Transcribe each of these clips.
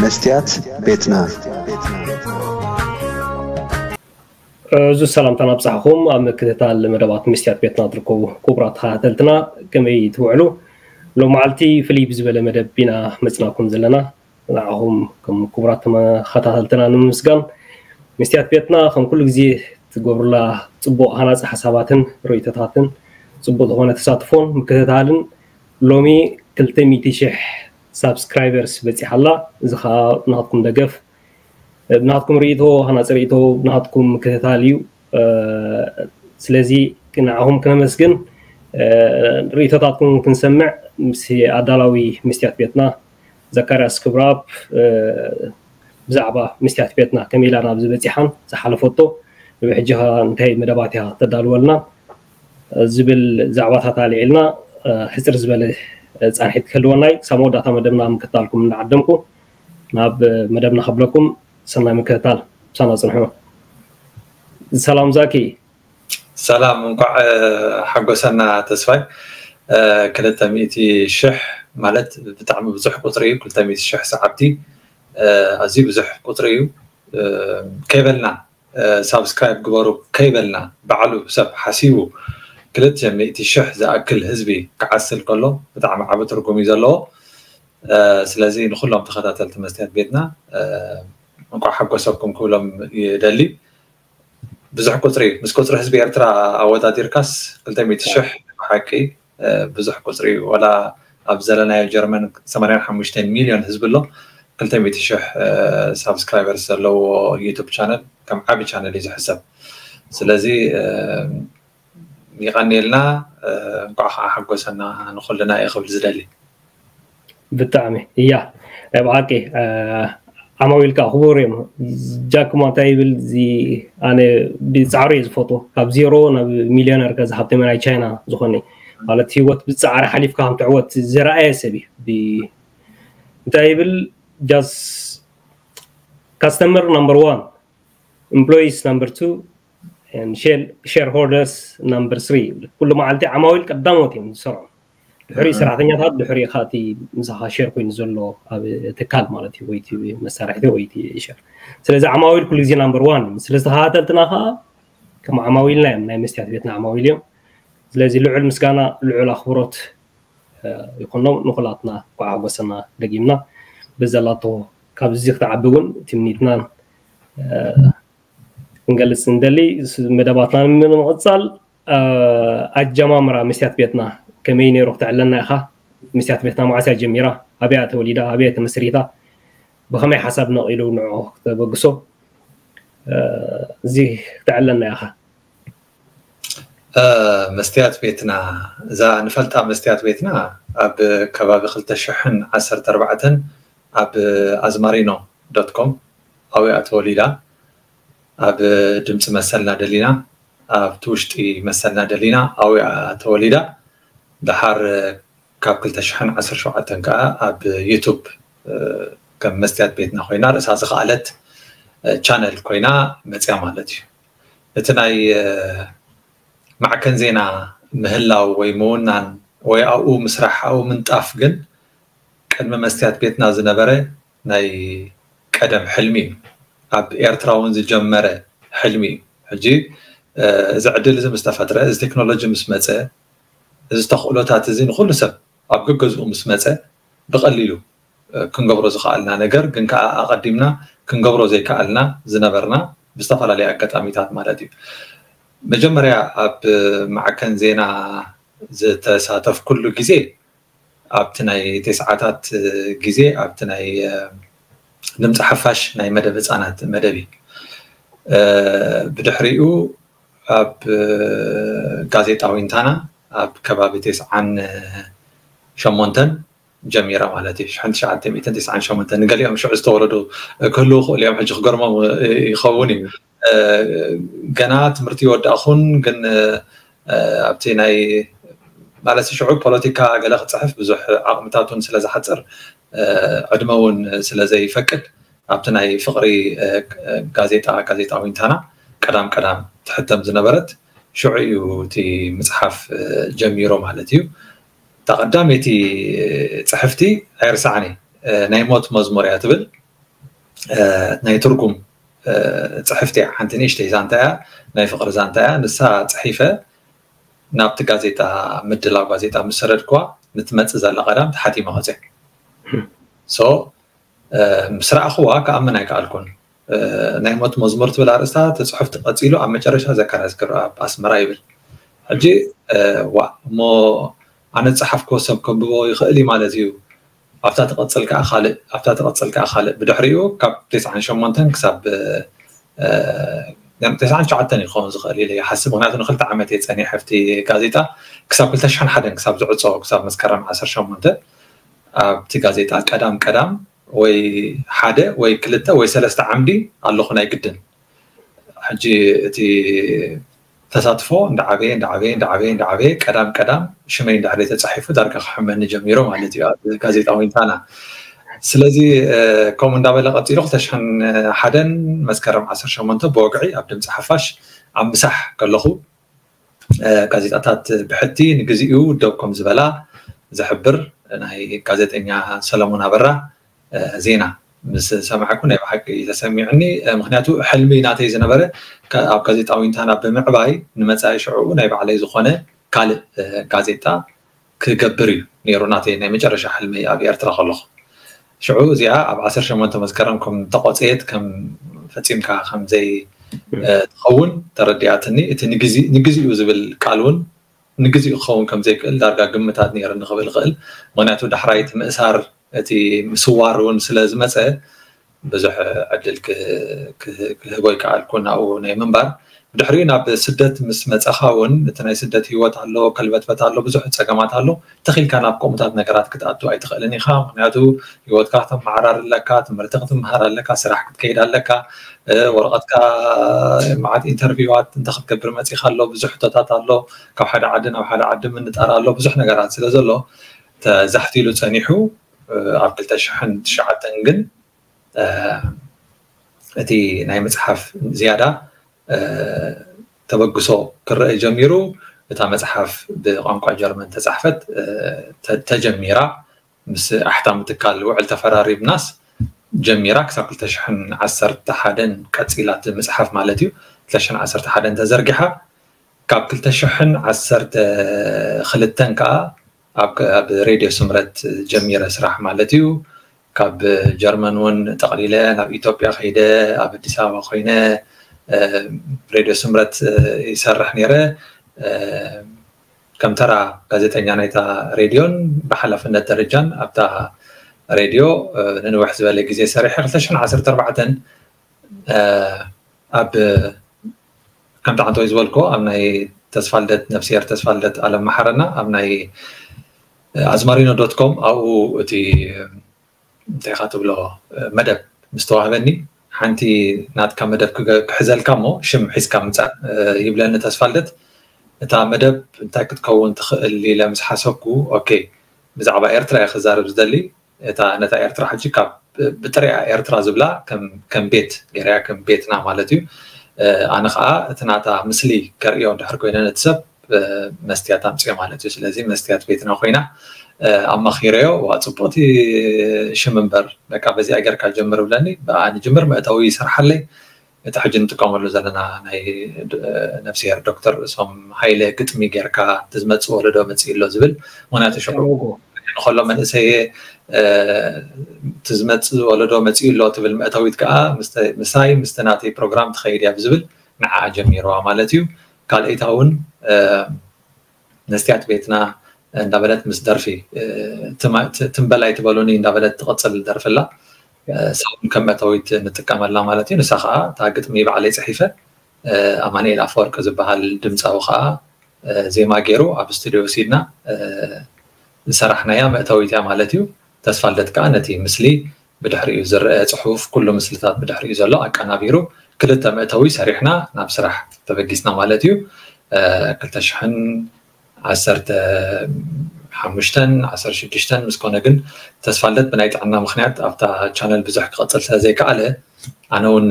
መስትያት ቤትና። እዚ ሰላምታና ኣብጻሕኹም ኣብ ምክትታል መደባት መስትያት ቤትና ትርከቡ ክቡራት ተኸታተልትና፣ ከመይ ትውዕሉ? ሎም መዓልቲ ፍልይ ብዝበለ መደብ ኢና መጽናኩም ዘለና። ንዓኹም ከም ክቡራት ተኸታተልትና ንምምስጋን፣ መስትያት ቤትና ከም ኩሉ ግዜ ትገብሩላ ጽቡቕ ሃናጺ ሓሳባትን ርእይቶታትን ጽቡቕ ዝኾነ ተሳትፎን ምክትታልን ሎሚ ክልተ ሚእቲ ሽሕ ሳብስክራይበርስ በጺሓ ኣላ። እዚ ኸኣ ናትኩም ደገፍ፣ ናትኩም ርእይቶ፣ ሃናጺ ርእይቶ፣ ናትኩም ምክትታል እዩ። ስለዚ ንዓኹም ክነመስግን፣ ርእይቶታትኩም ክንሰምዕ ምስ ኣዳላዊ መስትያት ቤትና ዘካርያስ ክብረኣብ ብዛዕባ መስትያት ቤትና ከመይ ኢላ ናብዚ በጺሓን ዝሓለፈቶ ብሕጂ ኸኣ እንታይ መደባት እያ ተዳልወልና ዝብል ዛዕባታት ኣልዒልና ሕጽር ዝበለ ጻንሒት ክህልወና እዩ። ክሳብ መወዳእታ መደብና ምክትታልኩም እናዓደምኩ ናብ መደብና ከብለኩም ሰናይ ምክትታል ምሳና ጽንሑ። ሰላም ዛኪ። ሰላም፣ እንኳዕ ሓጎሰና ተስፋይ። ክልተ ሚእቲ ሽሕ ማለት ብጣዕሚ ብዙሕ ቁፅሪ እዩ። ክልተ ሚእቲ ሽሕ ሰዓብቲ ኣዝዩ ብዙሕ ቁፅሪ እዩ። ከይበልና ሳብስክራይብ ግበሩ ከይበልና ባዕሉ ሰብ ሓሲቡ ክልተ ሚእቲ ሽሕ ዝኣክል ህዝቢ ክዓስል ከሎ ብጣዕሚ ዓቢ ትርጉም እዩ ዘለዎ። ስለዚ ንኩሎም ተኸታተልቲ መስትያት ቤትና እንኳዕ ሓጎሰኩም ክብሎም ይደሊ። ብዙሕ ቁፅሪ እዩ። ምስ ቁፅሪ ህዝቢ ኤርትራ ኣወዳዲርካስ ክልተ ሚእቲ ሽሕ ብሓቂ ብዙሕ ቁፅሪ እዩ። ወላ ኣብ ዘለናዮ ጀርመን ሰማንያን ሓሙሽተን ሚልዮን ህዝቢ ኣሎ። ክልተ ሚእቲ ሽሕ ሳብስክራይበርስ ዘለዎ ዩቱብ ቻነል ከም ዓቢ ቻነል እዩ ዝሕሰብ። ስለዚ ይቐንየልና፣ እንኳዕ ከዓ ሓጎሰና ንኩልና እየ ክብል ዝደሊ። ብጣዕሚ እያ ናይ ብሓቂ ዓማዊል ከዓ ክቡር እዮም። ጃክማ እንታይ ይብል እዚ ኣነ ብፃዕሪ እየ ዝፈትዎ። ካብ ዜሮ ናብ ሚልዮነር ከዚ ሃብተመ ናይ ቻይና ዝኾነ ማለት ህይወት ብፃዕሪ ሓሊፍካ ከም ትዕወት ዝረኣየ ሰብ እዩ። እንታይ ይብል just customer number one, employees number two, shareholders number three ይብል። ኩሉ መዓልቲ ዓማዊል ቀዳሞት እዮም ዝሰርዑ። ድሕሪ ሰራሕተኛታት ድሕሪ ካቲ ምሳኻ ሼር ኮይኑ ዘሎ ኣብ ትካል ማለት እዩ ወይ መሳርሕቲ ወይ ሸር። ስለዚ ዓማዊል ኩሉ ግዜ ናምበር ዋን። ስለዚ ተኸታተልትና ከዓ ከም ዓማዊልና እዮም፣ ናይ መስትያት ቤትና ዓማዊል እዮም። ስለዚ ልዑል ምስጋና ልዑል ኣኽብሮት ይኹኖም ንኩላትና። ኳዓ ጎሰና ደጊምና ብዘላቶ ካብዚ ክትዓቢ እውን ትምኒትናን ክንገልፅ እንደሊ። መደባትና ንምቕፃል ኣጀማምራ መስትያት ቤትና ከመይ ነይሩ ክትዕለና ኢኻ? መስትያት ቤትና መዓስ እያ ጀሚራ? ኣበይ እያ ተወሊዳ? ኣበይ እያ ተመስሪታ? ብኸመይ ሓሳብ ነቒሉ ንዑ ክተበግሶ እዚ ክትዕለና ኢኻ? መስትያት ቤትና፣ እዛ ንፈልጣ መስትያት ቤትና ኣብ ከባቢ ክልተ ሽሕን ዓሰርተ ኣርባዕተን ኣብ ኣዝማሪኖ ዶት ኮም ኣብያ ተወሊዳ። ኣብ ድምፂ መሰልና ደሊና፣ ኣብቲ ውሽጢ መሰልና ደሊና ኣብያ ተወሊዳ። ደሓር ካብ ክልተ ሽሕን ዓሰርተ ሸውዓተን ከዓ ኣብ ዩቱብ ከም መስትያት ቤትና ኮይና ርእሳ ዝኸኣለት ቻነል ኮይና መፅያ ማለት እዩ። እቲ ናይ ማዕከን ዜና ምህላው ወይ ምውናን ወይ ኣብኡ ምስራሕ ኣብኡ ምንጣፍ ግን ቅድሚ መስትያት ቤትና ዝነበረ ናይ ቀደም ሕልሚ እዩ። ኣብ ኤርትራ እውን ዝጀመረ ሕልሚ እዩ። ሕጂ እዚ ዕድል እዚ ምስ ተፈጥረ፣ እዚ ቴክኖሎጂ ምስ መፀ፣ እዚ ተኽእሎታት እዚ ንኩሉ ሰብ ኣብ ገገዝኡ ምስ መፀ ብቐሊሉ ክንገብሮ ዝኸኣልና ነገር ግን ከዓ ኣቐዲምና ክንገብሮ ዘይከኣልና ዝነበርና ብዝተፈላለየ ኣጋጣሚታት ማለት እዩ። መጀመርያ ኣብ ማዕከን ዜና ዝተሳተፍኩሉ ግዜ ኣብቲ ናይ ተስዓታት ግዜ ኣብቲ ናይ ድምፂ ሓፋሽ ናይ መደብ ህፃናት መደብ እዩ። ብድሕሪኡ ኣብ ጋዜጣ ዊንታና ኣብ ከባቢ ተስዓን ሸሞንተን ጀሚረ ማለት እዩ። ሽሕን ትሽዓተ ሚእትን ተስዓን ሸሞንተን ንገሊኦም ሽዑ ዝተወለዱ ክህልዉ ክእሉ እዮም። ሕጂ ክገርሞም ይኸውን እዩ። ገና ትምህርቲ ይወዳእኹን ግን ኣብቲ ናይ ማለት ሽዑ ፖለቲካ ገለ ክፅሕፍ ብዙሕ ዓቕምታት እውን ስለ ዝሓፅር ዕድመ እውን ስለ ዘይፈቅድ ኣብቲ ናይ ፍቕሪ ጋዜጣ ጋዜጣ ዊንታና ቀዳም ቀዳም ትሕተም ዝነበረት ሽዑ እዩ እቲ ምፅሓፍ ጀሚሮ ማለት እዩ። እታ ቀዳመይቲ ፅሕፍቲ ኣይርሳዕኒ ናይ ሞት መዝሙር እያ ትብል። ናይ ትርጉም ፅሕፍቲ እያ። ሓንቲ ንእሽተይ ዛንታ እያ፣ ናይ ፍቅሪ ዛንታ እያ። ንሳ ፅሒፈ ናብቲ ጋዜጣ፣ ምድላው ጋዜጣ ምስ ሰደድክዋ፣ ንትመፅእ ዘላ ቀዳም ተሓቲማ ወፅያ። ሶ ምስ ረኣኽዋ ክኣምን ኣይከኣልኩን። ናይ ሞት መዝሙር ትብል ኣርእስታ፣ እቲ ፅሑፍ ተቐፂሉ ኣብ መጨረሻ ዘካርያስ ገብረኣብ ኣስመራ ይብል። ሕጂ ዋ እሞ ኣነ ዝፀሓፍክዎ ሰብ ከንብቦ ይኽእል እዩ ማለት እዩ። ኣብታ ትቐፅል ከዓ ካልእ፣ ኣብታ ትቐፅል ከዓ ካልእ። ብድሕሪኡ ካብ ተስዓን ሸሞንተን ክሳብ ተስዓን ትሽዓተን ይኸውን ዝኽእል ኢለ ይሓስብ። ምክንያቱ ንክልተ ዓመት እየ ፀኒሐ ኣብቲ ጋዜጣ፣ ክሳብ ክልተ ሽሕን ሓደን ክሳብ ዝዕፆ፣ ክሳብ መስከረም ዓሰርተ ሸሞንተ ኣብቲ ጋዜጣ ቀዳም ቀዳም ወይ ሓደ ወይ ክልተ ወይ ሰለስተ ዓምዲ ኣለኹ ናይ ግድን። ሕጂ እቲ ተሳትፎ እንዳዓበየ እንዳዓበየ እንዳዓበየ እንዳዓበየ ቀዳም ቀዳም ሽመይ እንድሕር ተፃሒፉ ዳርጋ ክሕመኒ ጀሚሩ ማለት እዩ ኣብ ጋዜጣ ዊንታና። ስለዚ ከምኡ እንዳበለ ቀፂሉ ክልተ ሽሕን ሓደን መስከረም ዓሰርተ ሸሞንተ ብወግዒ ኣብ ድምፂ ሓፋሽ ኣብ ምሳሕ ከለኹ ጋዜጣታት ብሕቲ ንግዚኡ ደው ከም ዝበላ ዝሕብር ናይ ጋዜጠኛ ሰለሞን ኣበራ ዜና ምስ ሰማዕኩ ናይ ብሓቂ ተሰሚዑኒ። ምክንያቱ ሕልሚ ናተይ ዝነበረ ኣብ ጋዜጣ ዊንታና ብምዕባይ ንመፃኢ ሽዕኡ ናይ ባዕለይ ዝኾነ ካልእ ጋዜጣ ክገብር እዩ ነይሩ ናተይ ናይ መጨረሻ ሕልሚ ኣብ ኤርትራ ከለኹ። ሽዑ እዚኣ ኣብ ዓሰርተ ሸሞንተ መስከረም ከም ተቆፀየት ከም ፈፂምካ ከም ዘይ ትኸውን ተረዲኣትኒ። እቲ ንግዜኡ ዝብል ቃል እውን ንግዜኡ ክኸውን ከም ዘይክእል ዳርጋ ግምታት ነይርኒ ክብል ይኽእል። ምክንያቱ ዳሕራይ እቲ ምእሳር እቲ ምስዋር እውን ስለ ዝመፀ ብዙሕ ዕድል ክህቦ ይከኣልኩ ናብኡ ናይ ምንባር። ብድሕሪኡ ናብ ስደት ምስ መፀኻ እውን እቲ ናይ ስደት ህይወት ኣሎ፣ ከልበትበት ኣሎ፣ ብዙሕ ፀገማት ኣሎ። ተኺልካ ናብ ከምኡታት ነገራት ክትኣቱ ኣይትኽእልን ኢኻ። ምክንያቱ ህይወትካ ከተመሓራር ኣለካ፣ ትምህርቲ ክትምሃር ኣለካ፣ ስራሕ ክትከይድ ኣለካ፣ ወረቐትካ መዓት ኢንተርቪዋት እንተ ክትገብር መፂኻ ኣሎ፣ ብዙሕ ሕቶታት ኣሎ፣ ካብ ሓደ ዓዲ ናብ ሓደ ዓዲ ምንጣር ኣሎ፣ ብዙሕ ነገራት ስለ ዘሎ ተዛሕቲሉ ፀኒሑ ኣብ ክልተ ሽሕን ትሽዓተን ግን እቲ ናይ ምፅሓፍ ዝያዳ ተበግሶ ክረአ ጀሚሩ። እታ መፅሓፍ ብቋንቋ ጀርመን ተፃሕፈት ተጀሚራ ምስ ኣሕታሚ ትካል ውዕል ተፈራሪምናስ ጀሚራ ክሳብ ክልተ ሽሕን ዓሰርተ ሓደን ቀፂላ እቲ ምፅሓፍ ማለት እዩ። ክልተ ሽሕን ዓሰርተ ሓደን ተዘርጊሓ ካብ ክልተ ሽሕን ዓሰርተ ክልተን ከዓ ኣብ ሬድዮ ስምረት ጀሚረ ስራሕ ማለት እዩ። ካብ ጀርመን እውን ጠቕሊለ ናብ ኢትዮጵያ ከይደ ኣብ ኣዲስ ኣበባ ኮይነ ሬድዮ ስምረት ይሰርሕ ነይረ። ከም ተራ ጋዜጠኛ ናይታ ሬድዮን ብሓላፍነት ደረጃን ኣብታ ሬድዮ ንንውሕ ዝበለ ግዜ ሰሪሐ ክልተ ሽሕን ዓሰርተ ኣርባዕተን ኣብ ከምቲ ዓንተወይ ዝበልኮ ኣብ ናይ ተስፋልደት ነፍስሄር ተስፋልደት ኣለም መሓረና ኣብ ናይ ኣዝማሪኖ ዶት ኮም ኣብኡ እቲ እንታይ ኢኻ ትብሎ መደብ ምስ ተዋህበኒ ሓንቲ ናትካ መደብ ክሕዘልካ እሞ ሽም ሒዝካ ምፃእ ይብለኒ ተስፋልደት። እታ መደብ እንታይ ክትከውን ትኽእል ኢለ ምስ ሓሰብኩ ኦኬ ብዛዕባ ኤርትራ እየ ክዛረብ ዝደሊ። እታ ነታ ኤርትራ ሕጂ ካብ ብጥሪኣ ኤርትራ ዝብላ ከም ቤት ገይረያ ከም ቤትና ማለት እዩ። ኣነ ከዓ እቲ ናታ ምስሊ ከርእዮ እንድሕር ኮይነ ነቲ ሰብ መስትያት ኣምፅኦ ማለት እዩ። ስለዚ መስትያት ቤትና ኮይና ኣማኺረዮ ዋ ፅቡቅቲ ሽም እምበር በቃ በዚኣ ጌርካ ጀምር ብለኒ ብኣ ንጅምር መእተዊ ይሰርሓለይ። እቲ ሕጂ ንጥቀመሉ ዘለና ናይ ነፍስሄር ዶክተር ርእሶም ሃይለ ግጥሚ ጌርካ እቲ ዝመፅእ ወለዶ መፅእ ኣሎ ዝብል ምክንያቱ ሽዑ ከሎ መንእሰየ እቲ ዝመፅእ ወለዶ መፅኡ ኣሎ ትብል መእተዊት ከዓ ምሳይ ምስቲ ናተይ ፕሮግራም ትኸይድ እያ ብዝብል ንዓ ጀሚርዋ ማለት እዩ። ካልኣይታ እውን መስትያት ቤትና እንዳበለት ምስ ደርፊ ትንበላይ ትበሉኒ እንዳበለት ትቐፅል ደርፍላ ሳውን ከም መእተዊት ንጥቀመላ ማለት እዩ። ንሳ ከዓ እታ ግጥሚ ባዕለይ ፅሒፈ ኣማኒኤል ኣፈወርቂ ዝበሃል ድምፃዊ ከዓ ዜማ ገይሩ ኣብ ስቱዲዮ ወሲድና ዝሰራሕናያ መእተዊት እያ ማለት እዩ። ተስፋልደት ከዓ ነቲ ምስሊ ብድሕሪኡ ዝረአ ፅሑፍ ኩሉ ምስልታት ብድሕሪኡ ዘሎ ኣቀናቢሩ ክልተ መእተዊ ሰሪሕና ናብ ስራሕ ተበጊስና ማለት እዩ። ክልተ ሽሕን ዓሰርተ ሓሙሽተን ዓሰርተ ሽዱሽተን ምስ ኮነ ግን ተስፋልደት ብናይ ጥዕና ምክንያት ኣብታ ቻነል ብዙሕ ክቐፅል ስለ ዘይከኣለ ኣነ እውን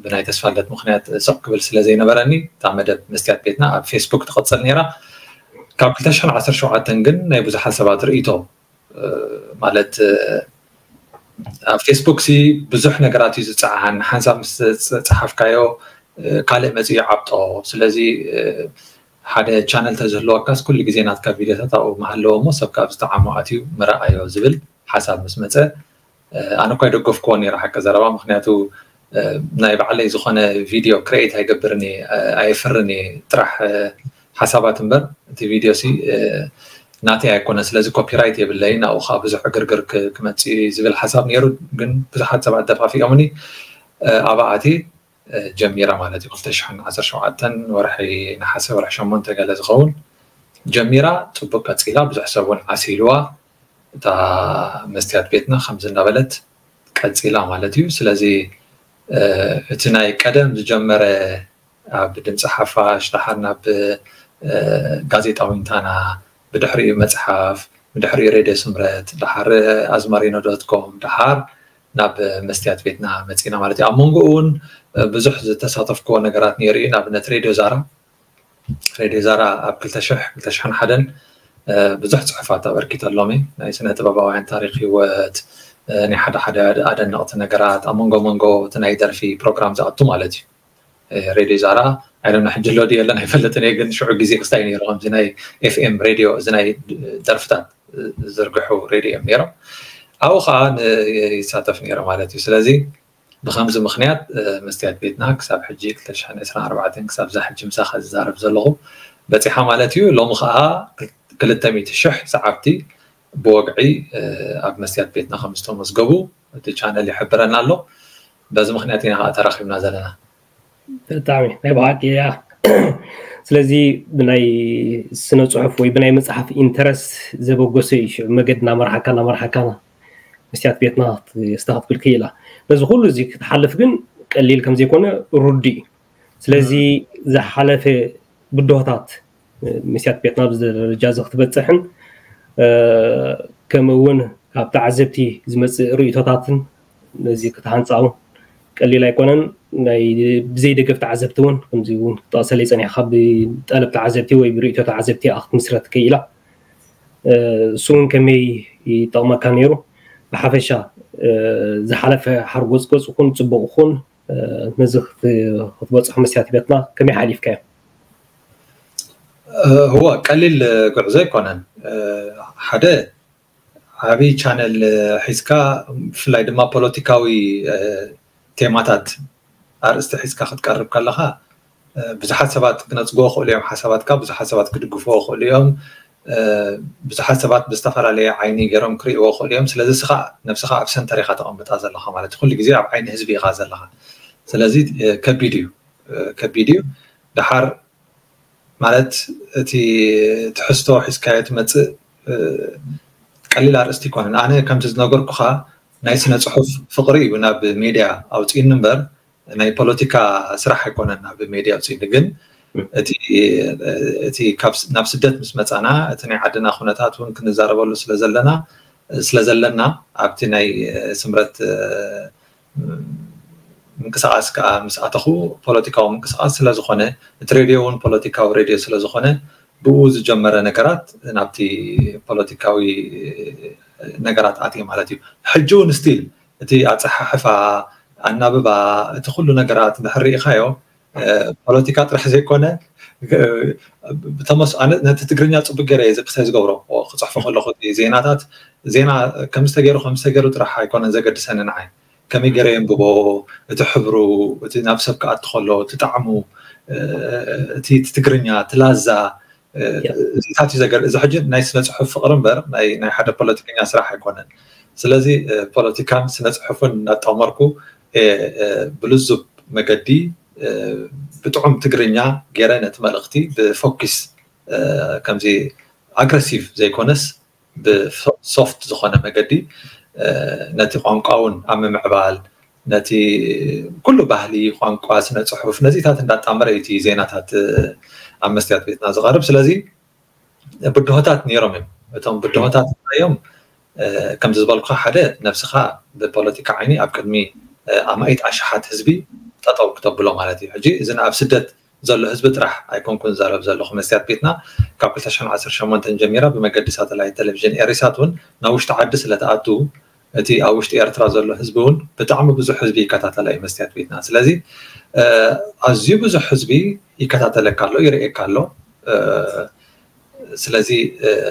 ብናይ ተስፋልደት ምክንያት ስቕ ክብል ስለ ዘይነበረኒ እታ መደብ መስትያት ቤትና ኣብ ፌስቡክ ትቐፅል ነይራ። ካብ ክልተ ሽሕን ዓሰርተ ሸውዓተን ግን ናይ ብዙሓት ሰባት ርእይቶ ማለት ኣብ ፌስቡክ ሲ ብዙሕ ነገራት እዩ ዝፀዓን። ሓንሳብ ምስ ፀሓፍካዮ ካልእ መፅኡ ይዓብጦ። ስለዚ ሓደ ቻነል ተዝህልወካስ ኩሉ ግዜ ናትካ ቪድዮታት ኣብኡ ምሃለዎ እሞ ሰብ ካብ ዝጠዓሞ ኣትዩ ምረኣዮ ዝብል ሓሳብ ምስ መፀ ኣነ እኳ ይደገፍክዎ ነይረ ሓቂ ዘረባ። ምክንያቱ ናይ ባዕለይ ዝኾነ ቪድዮ ክሬኤት ኣይገብርን እየ፣ ኣየፍርን እየ፣ ጥራሕ ሓሳባት እምበር እቲ ቪድዮ ሲ ናተይ ኣይኮነ። ስለዚ ኮፒራይት የብለይን፣ ኣብኡ ከዓ ብዙሕ ዕግርግር ክመፅእ እዩ ዝብል ሓሳብ ነይሩ። ግን ብዙሓት ሰባት ደፋፊኦምኒ ኣብኣ ኣትየ ጀሚረ ማለት እዩ። ክልተ ሽሕን ዓሰርተ ሸውዓተን ወርሒ ነሓሰ ወርሒ ሸሞንተ ገለ ዝኸውን ጀሚራ፣ ፅቡቅ ቀፂላ፣ ብዙሕ ሰብ እውን ዓሲልዋ። እታ መስትያት ቤትና ከምዚ እናበለት ቀፂላ ማለት እዩ። ስለዚ እቲ ናይ ቀደም ዝጀመረ ኣብ ድምፂ ሓፋሽ፣ ደሓር ናብ ጋዜጣ ዊንታና፣ ብድሕሪኡ መፅሓፍ፣ ብድሕሪኡ ሬድዮ ስምረት፣ ደሓር ኣዝማሪኖ ዶት ኮም፣ ደሓር ናብ መስትያት ቤትና መፂና ማለት እዩ። ኣብ መንጎኡ እውን ብዙሕ ዝተሳተፍክዎ ነገራት ነይሩ እዩ። ንኣብነት ሬድዮ ዛራ፣ ሬድዮ ዛራ ኣብ ክልተ ሽሕ፣ ክልተ ሽሕን ሓደን ብዙሕ ፅሑፋት ኣበርኪተሎም እየ። ናይ ስነ ጥበባውያን ታሪክ ህይወት፣ ናይ ሓደ ሓደ ኣደነቕቲ ነገራት፣ ኣብ መንጎ መንጎ እቲ ናይ ደርፊ ፕሮግራም ዝኣቱ ማለት እዩ። ሬድዮ ዛራ ኣይደና ሕጂ ኣሎ ድዩ የለን ኣይፈልጥን እየ፣ ግን ሽዑ ግዜ ክስታይ ነይሩ ከምዚ ናይ ኤፍኤም ሬድዮ፣ እዚ ናይ ደርፍታት ዝርግሑ ሬድዮ እዮም ነይሮም። ኣብኡ ከዓ ይሳተፍ ነይረ ማለት እዩ። ስለዚ ብከምዚ ምክንያት መስትያት ቤትና ክሳብ ሕጂ ክልተ ሽሕን ዕስራን ኣርባዕተን ክሳብ እዛ ሕጂ ምሳኻ ዝዛረብ ዘለኹ በፂሓ ማለት እዩ። ሎሚ ከዓ ክልተ ሚእቲ ሽሕ ሰዓብቲ ብወግዒ ኣብ መስትያት ቤትና ከም ዝተመዝገቡ እቲ ቻነል ይሕብረና ኣሎ። በዚ ምክንያት ኢና ከዓ ተራኺብና ዘለና። ብጣዕሚ ናይ ብሓቂ እያ። ስለዚ ብናይ ስነ ፅሑፍ ወይ ብናይ መፅሓፍ ኢንተረስት ዘበገሰ እዩ። ሽዑ መገዲ እናመርሓካ እናመርሓካ መስትያት ቤትና ስታ ክትብል ክኢላ። በዚ ኩሉ እዚ ክትሓልፍ ግን ቀሊል ከም ዘይኮነ ርዱእ እዩ። ስለዚ ዝሓለፈ ብድሆታት መስትያት ቤትና ኣብዚ ደረጃ እዚ ክትበፅሕን ከምኡ እውን ካብ ተዓዘብቲ ዝመፅእ ርእይቶታትን ነዚ ክትሃንፃውን ቀሊል ኣይኮነን። ናይ ብዘይ ደገፍ ተዓዘብቲ እውን ከምዚ እውን ክትጠቕሰለይ ፀኒሕካ ብጠለብ ተዓዘብቲ ወይ ብርእይቶ ተዓዘብቲ እያ ክትምስረት ክኢላ። እሱ እውን ከመይ ይጠቕመካ ነይሩ? ብሓፈሻ ዝሓለፈ ሓርጎፅጎፅ ይኹን ፅቡቕ ይኹን ነዚ ክትበፅሑ መስትያት ቤትና ከመይ ሓሊፍካዮ? ህወ ቀሊል ጉዕዞ ኣይኮነን። ሓደ ዓብይ ቻነል ሒዝካ ብፍላይ ድማ ፖለቲካዊ ቴማታት ኣርእስቲ ሒዝካ ክትቀርብ ከለካ ብዙሓት ሰባት ክነፅግዎ ክእሉ እዮም ሓሳባትካ፣ ብዙሓት ሰባት ክድግፍዎ ክእሉ እዮም፣ ብዙሓት ሰባት ብዝተፈላለየ ዓይኒ ገይሮም ክርእይዎ ክእሉ እዮም። ስለዚ እስኻ ነብስኻ ኣብ ሰንተር ኢኻ ተቐምጣ ዘለኻ ማለት እዩ። ኩሉ ግዜ ኣብ ዓይኒ ህዝቢ ኢኻ ዘለኻ። ስለዚ ከቢድ እዩ፣ ከቢድ እዩ። ደሓር ማለት እቲ ትሕዝቶ ሒዝካዮ ትመፅእ ቀሊል ኣርእስቲ ኣይኮነን። ኣነ ከምቲ ዝነገርኩኻ ናይ ስነ ፅሑፍ ፍቕሪ እዩ ናብ ሜድያ ኣውፅእኒ እምበር ናይ ፖለቲካ ስራሕ ኣይኮነን ናብ ሜድያ ኣውፅእኒ። ግን እቲ ናብ ስደት ምስ መፃና እቲ ናይ ዓድና ኩነታት እውን ክንዛረበሉ ስለዘለና ስለዘለና ኣብቲ ናይ ስምረት ምንቅስቃስ ከዓ ምስ ኣተኹ ፖለቲካዊ ምንቅስቃስ ስለዝኾነ እቲ ሬድዮ እውን ፖለቲካዊ ሬድዮ ስለዝኾነ ብኡ ዝጀመረ ነገራት ናብቲ ፖለቲካዊ ነገራት ኣትየ ማለት እዩ። ሕጂ እውን ስቲል እቲ ኣፀሓሕፋ፣ ኣናብባ፣ እቲ ኩሉ ነገራት እንድሕር ርኢኻዮ ፖለቲካ ጥራሕ ዘይኮነ ነቲ ትግርኛ ፅቡቅ ገይረ እየ ዝቅሳይ ዝገብሮ ክፅሕፎ ከለኩ ዜናታት ዜና ከምዝተገይሩ ከምዝተገይሩ ጥራሕ ኣይኮነን ዘገድሰኒ ንዓይ ከመይ ገይረ የንብቦ እቲ ሕብሩ እቲ ናብ ሰብ ክኣቲ ከሎ እቲ ጣዕሙ እቲ ትግርኛ እቲ ላዛ እዚታት እዩ ዘገር እዚ ሕጂ ናይ ስነ ፅሑፍ ፍቅሪ እምበር ናይ ሓደ ፖለቲከኛ ስራሕ ኣይኮነን። ስለዚ ፖለቲካን ስነ ፅሑፍን እናጣመርኩ ብልዙብ መገዲ ብጥዑም ትግርኛ ገይረ ነቲ መልእክቲ ብፎኪስ ከምዚ ኣግረሲቭ ዘይኮነስ ብሶፍት ዝኾነ መገዲ ነቲ ቋንቋ እውን ኣብ ምምዕባል ነቲ ኩሉ ባህሊ ቋንቋ ስነ ፅሑፍ ነዚታት እንዳጣመረ እዩ እቲ ዜናታት ኣብ መስትያት ቤትና ዝቐርብ። ስለዚ ብድሆታት ነይሮም እዮም። እቶም ብድሆታት እዮም ከምዚ ዝበልኩ ሓደ ነብስኻ ብፖለቲካ ዓይኒ ኣብ ቅድሚ ኣማኢት ኣሽሓት ህዝቢ ጠጠው ክተብሎ ማለት እዩ። ሕጂ እዚ ኣብ ስደት ዘሎ ህዝቢ ጥራሕ ኣይኮንኩን ዛረብ ዘለኹ። መስትያት ቤትና ካብ ክልተ ሽሕን ዓሰርተ ሸሞንተን ጀሚራ ብመገዲ ሳተላይት ቴሌቪዥን ኤሪሳት እውን ናብ ውሽጢ ዓዲ ስለተኣቱ እቲ ኣብ ውሽጢ ኤርትራ ዘሎ ህዝቢ እውን ብጣዕሚ ብዙሕ ህዝቢ ይከታተላ እዩ መስትያት ቤትና። ስለዚ ኣዝዩ ብዙሕ ህዝቢ ይከታተለካ ኣሎ፣ ይርእየካ ኣሎ። ስለዚ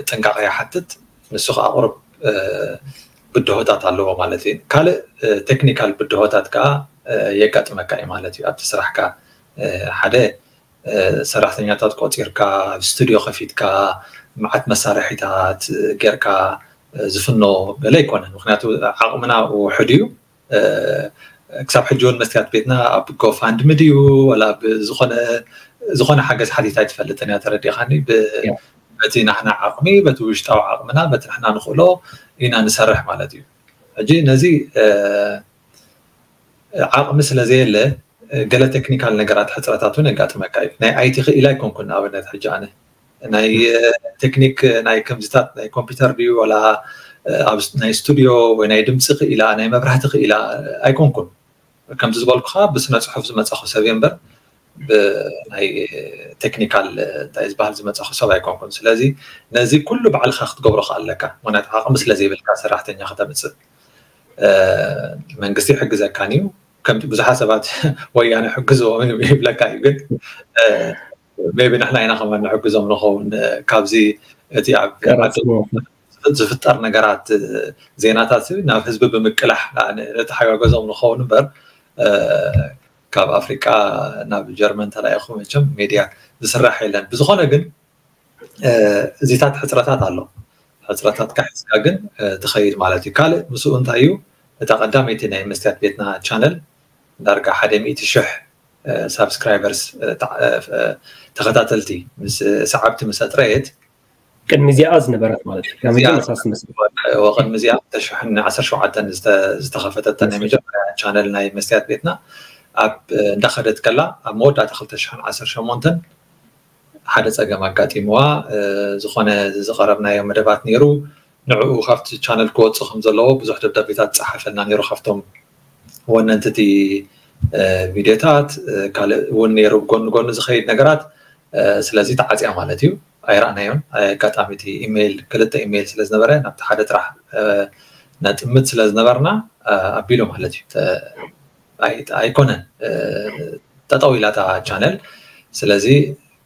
ጥንቃቐ ይሓትት። ንሱ ከዓ ቁሩብ ብድሆታት ኣለዎ ማለት እዩ። ካልእ ቴክኒካል ብድሆታት ከዓ የጋጥመካ እዩ ማለት እዩ። ኣብቲ ስራሕካ ሓደ ሰራሕተኛታት ቆፂርካ፣ ኣብ ስቱዲዮ ከፊትካ፣ መዓት መሳርሒታት ጌርካ ዝፍኖ ገለ ኣይኮነን። ምክንያቱ ዓቕምና ውሑድ እዩ። ክሳብ ሕጂ እውን መስትያት ቤትና ኣብ ጎፋንድሚ ድዩ ወላ ዝኾነ ሓገዝ ሓቲታ ኣይትፈልጥን እያ፣ ተረዲኻኒ። በቲ ናህና ዓቕሚ፣ በቲ ውሽጣዊ ዓቕምና፣ በቲ ንሕና ንኽእሎ ኢና ንሰርሕ ማለት እዩ። ሕጂ ነዚ ዓቕሚ ስለ ዘየለ ገለ ቴክኒካል ነገራት ሕፅረታት እውን የጋጥመካ እዩ። ናይ ኣይቲ ክኢላ ኣይኮንኩን። ንኣብነት ሕጂ ኣነ ናይ ቴክኒክ ናይ ከምዚታት ናይ ኮምፒውተር ድዩ ወላ ናይ ስቱዲዮ ወይ ናይ ድምፂ ክኢላ ናይ መብራህቲ ክኢላ ኣይኮንኩን። ከምዚ ዝበልኩኻ ብስነ ፅሑፍ ዝመፃኹ ሰብ እየ እምበር ብናይ ቴክኒካል እንታይ ዝበሃል ዝመፃኹ ሰብ ኣይኮንኩን። ስለዚ ነዚ ኩሉ ባዕልኻ ክትገብሮ ከኣለካ፣ ምክንያቱ ዓቕሚ ስለ ዘይብልካ ሰራሕተኛ ከተምፅእ መንግስቲ ይሕግዘካን እዩ። ከምቲ ብዙሓት ሰባት ወያነ ሕግዝዎም ይብለካ እዩ፣ ግን ሜቢ ንሕና ኢና ከማን ንሕግዞም ንኸውን። ካብዚ እቲ ኣብ ዝፍጠር ነገራት ዜናታት ናብ ህዝቢ ብምቅላሕ ንተሓጋገዞም ንኸውን እምበር ካብ ኣፍሪቃ ናብ ጀርመን ተላኢኹ መቸም ሜድያ ዝስራሕ የለን። ብዝኾነ ግን እዚታት ሕፅረታት ኣሎ። ሕፅረታት ካሒዝካ ግን ትኸይድ ማለት እዩ። ካልእ ምስኡ እንታይ እዩ፣ እታ ቀዳመይቲ ናይ መስትያት ቤትና ቻነል ዳርጋ ሓደ ሚእቲ ሽሕ ሳብስክራይበርስ ተኸታተልቲ ምስ ሰዓብቲ ምስ ኣጥረየት ቅድሚ እዚኣ ዝነበረት ማለት እዩ። ካብ መጀመርታ ዝመስል ወቅድሚ እዚኣ ክልተ ሽሕን ዓሰርተ ሸውዓተን ዝተኸፈተት ናይ መጀመርያ ቻነል ናይ መስትያት ቤትና ኣብ እንዳኸደት ከላ ኣብ መወዳእታ ክልተ ሽሕን ዓሰርተ ሸሞንተን ሓደ ፀገም ኣጋጢምዋ ዝኾነ ዝቐረብናዮ መደባት ነይሩ። ንዕኡ ካብቲ ቻነል ክወፅእ ከም ዘለዎ ብዙሕ ደብዳቤታት ዝፀሓፈልና ነይሩ ካብቶም ወነንቲ እቲ ቪድዮታት። ካልእ እውን ነይሩ ብጎኒ ጎኒ ዝኸይድ ነገራት። ስለዚ ተዓፅያ ማለት እዩ። ኣይረኣናዮን። ኣጋጣሚ እቲ ኢሜይል ክልተ ኢሜይል ስለ ዝነበረ ናብቲ ሓደ ጥራሕ ነጥምት ስለ ዝነበርና ኣቢሉ ማለት እዩ። ኣይኮነን፣ ጠጠው ኢላ እታ ቻነል። ስለዚ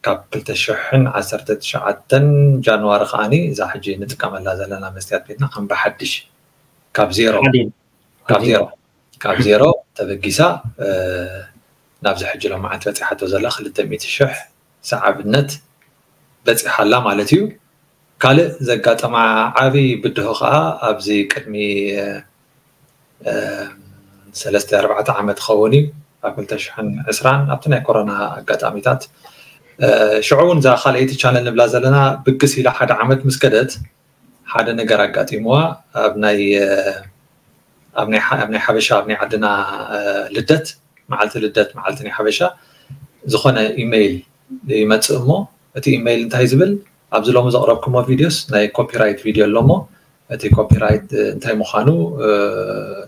ካብ ክልተ ሽሕን ዓሰርተ ትሽዓተን ጃንዋሪ ከዓኒ እዛ ሕጂ ንጥቀመላ ዘለና መስትያት ቤትና ከም ብሓድሽ ካብ ዜሮ ካብ ዜሮ ካብ ዜሮ ተበጊሳ ናብዚ ሕጂ ሎማዓንቲ በፂሓቶ ዘላ ክልተ ሚእቲ ሽሕ ሰዓብነት በፂሓላ ማለት እዩ። ካልእ ዘጋጠማ ዓብዪ ብድሆ ከዓ ኣብዚ ቅድሚ ሰለስተ ኣርባዕተ ዓመት ክኸውን እዩ፣ ኣብ ክልተ ሽሕን ዕስራን ኣብቲ ናይ ኮሮና ኣጋጣሚታት። ሽዑ እውን እዛ ካልኣይቲ ቻነል ንብላ ዘለና ብግስ ኢላ ሓደ ዓመት ምስ ከደት ሓደ ነገር ኣጋጢምዋ። ኣብ ናይ ኣብ ናይ ሓበሻ ኣብ ናይ ዓድና ልደት መዓልቲ ልደት መዓልቲ ናይ ሓበሻ ዝኾነ ኢሜይል ይመፅእ እሞ እቲ ኢሜይል እንታይ ዝብል ኣብዚ ሎሚ ዘቕረብኩሞ ቪድዮስ ናይ ኮፒራይት ቪድዮ ኣሎ እሞ እቲ ኮፒራይት እንታይ ምዃኑ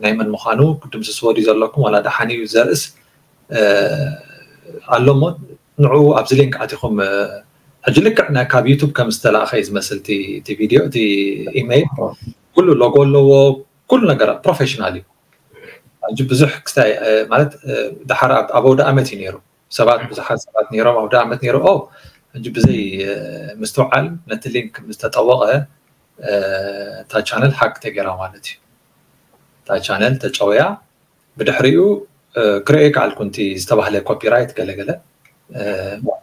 ናይ መን ምዃኑ ክድምስስዎ ድዩ ዘለኩም ዋላ ደሓን እዩ ዘርእስ ኣሎ እሞ ንዕኡ ኣብዚ ሊንክ ኣቲኹም ሕጂ ልክዕ ካብ ዩቱብ ከም ዝተላእኸ እዩ ዝመስል እቲ ቪድዮ እቲ ኢሜይል ኩሉ ሎጎ ኣለዎ ኩሉ ነገር ፕሮፌሽናል እዩ። ሕጂ ብዙሕ ክስታይ ማለት ድሓር ኣብ ኣውደ ኣመት እዩ ነይሩ ሰባት ብዙሓት ሰባት ነይሮም ኣውደ ኣመት ነይሩ ኦ ሕጂ ብዘይ ምስትውዓል ነቲ ሊንክ ምስ ተጠወቐ እታ ቻነል ሓቅ ተገይራ ማለት እዩ። እታ ቻነል ተጨውያ ብድሕሪኡ ክርእየ ከኣልኩ እቲ ዝተባህለ ኮፒራይት ገለገለ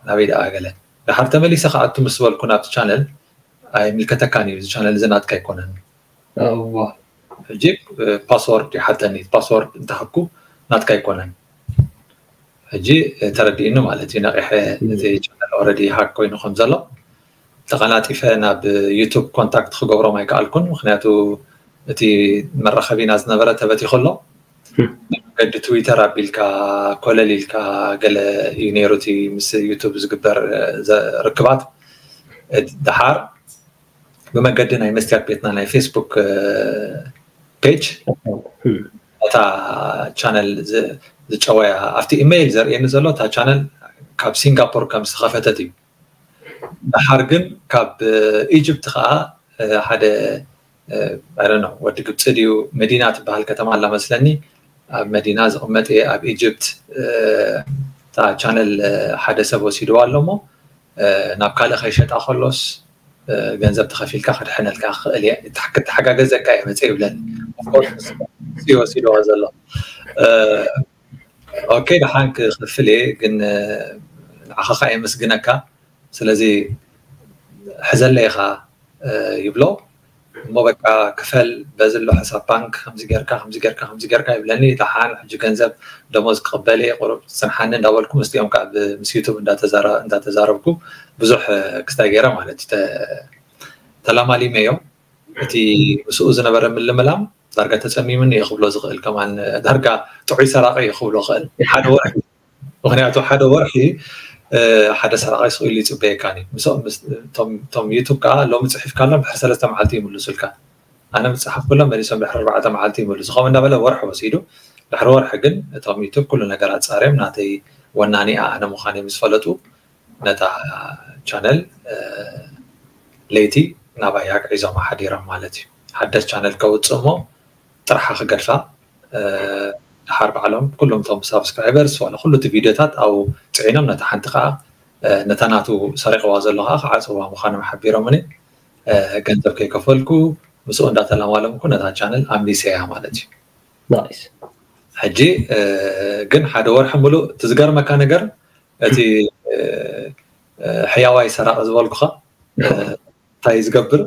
ናበይ ደኣ ገለ ድሓር ተመሊሰ ከኣቱ ምስ በልኩ ናብቲ ቻነል ኣይምልከተካን እዩ እዚ ቻነል እዚ ናትካ ኣይኮነን። ሕጂ ፓስወርድ ይሓተኒ ፓስወርድ እንተሃብኩ ናትካ ኣይኮነን። ሕጂ ተረዲእኒ ማለት እዩ ነቂሐ እቲ ቻነል ኦረዲ ሃክ ኮይኑ ከም ዘሎ ተቐላጢፈ ናብ ዩቱብ ኮንታክት ክገብሮም ኣይከኣልኩን ምክንያቱ እቲ መራኸቢና ዝነበረ ተበቲኹ ኣሎ። መገዲ ትዊተር ኣቢልካ ኮለል ኢልካ ገለ እዩ ነይሩ እቲ ምስ ዩቱብ ዝግበር ርክባት ድሓር ብመገዲ ናይ መስትያት ቤትና ናይ ፌስቡክ ፔጅ እታ ቻነል ዝጨወያ ኣብቲ ኢሜይል ዘርእየኒ ዘሎ እታ ቻነል ካብ ሲንጋፖር ከም ዝተኸፈተት እዩ። ድሓር ግን ካብ ኢጅፕት ከዓ ሓደ I don't know፣ ወዲ ግብፂ ድዩ፣ መዲና ትበሃል ከተማ ኣላ መስለኒ። ኣብ መዲና ዝቕመጥ እየ፣ ኣብ ኢጅፕት። እታ ቻነል ሓደ ሰብ ወሲድዋ ኣሎ እሞ ናብ ካልእ ከይሸጣ ከሎስ ገንዘብ ተኸፊልካ ክድሕነልካ ክኽእል እየ፣ ክተሓጋገዘካ እየ መፀ ይብለኒ። ወሲድዋ ዘሎ። ኦኬ፣ ደሓን ክኽፍል እየ፣ ግን ንዓኻ ከዓ የመስግነካ። ስለዚ ሕዘለይ ኢኻ ይብሎ እሞ በቃ ክፈል በዚ ኣሎ ሕሳብ ባንክ ከምዚ ጌርካ ከምዚ ጌርካ ከምዚ ጌርካ ይብለኒ። ደሓን ሕጂ ገንዘብ ደሞዝ ክቕበል እየ ቁሩብ ጽንሓኒ እንዳበልኩ ምስቲኦም ከዓ ምስ ዩቱብ እንዳተዛረብኩ ብዙሕ ክስታይ ገይረ ማለት እዩ ተላማሊመዮ። እቲ ምስኡ ዝነበረ ምልምላም ዳርጋ ተጸሚምኒ እየ ክብሎ ዝኽእል ከማን ዳርጋ ጥዑይ ሰራቂ እየ ክብሎ ክእል ሓደ ወርሒ ምክንያቱ ሓደ ወርሒ ሓደ ሰራቂ ስቕ ኢሉ ይፅበየካን እዩ። እቶም ዩቱብ ከዓ ሎሚ ፅሒፍካሎም ድሕሪ ሰለስተ መዓልቲ ይምልሱልካ። ኣነ ምፅሓፍኩሎም መሊሶም ድሕሪ ኣርባዕተ መዓልቲ ይምልሱ። ከምኡ እንዳበለ ወርሒ ወሲዱ። ድሕሪ ወርሒ ግን እቶም ዩቱብ ኩሉ ነገር ኣፃርዮም ናተይ ወናኒ ኣነ ምዃነይ ምስ ፈለጡ ነታ ቻነል ለይቲ ናባይ ኣግዒዞማ ሓዲሮም ማለት እዩ። ሓደስ ቻነል ከውፅእ እሞ ጥርሓ ክገድፋ ድሓር ባዕሎም ኩሎም እቶም ሳብስክራይበርስ ዋላ ኩሉ እቲ ቪድዮታት ኣብኡ ፅዒኖም ነታ ሓንቲ ከዓ ነታ ናቱ ሰሪቕዋ ዘሎ ከዓ ክዓፅዋ ምዃኖም ሓቢሮምኒ። ገንዘብ ከይከፈልኩ ምስኡ እንዳተላማለምኩ ነታ ቻነል ኣምሊሰያ ማለት እዩ። ሕጂ ግን ሓደ ወርሒ ሙሉእ እቲ ዝገርመካ ነገር እቲ ሕያዋይ ሰራቂ ዝበልኩኻ እንታይ ዝገብር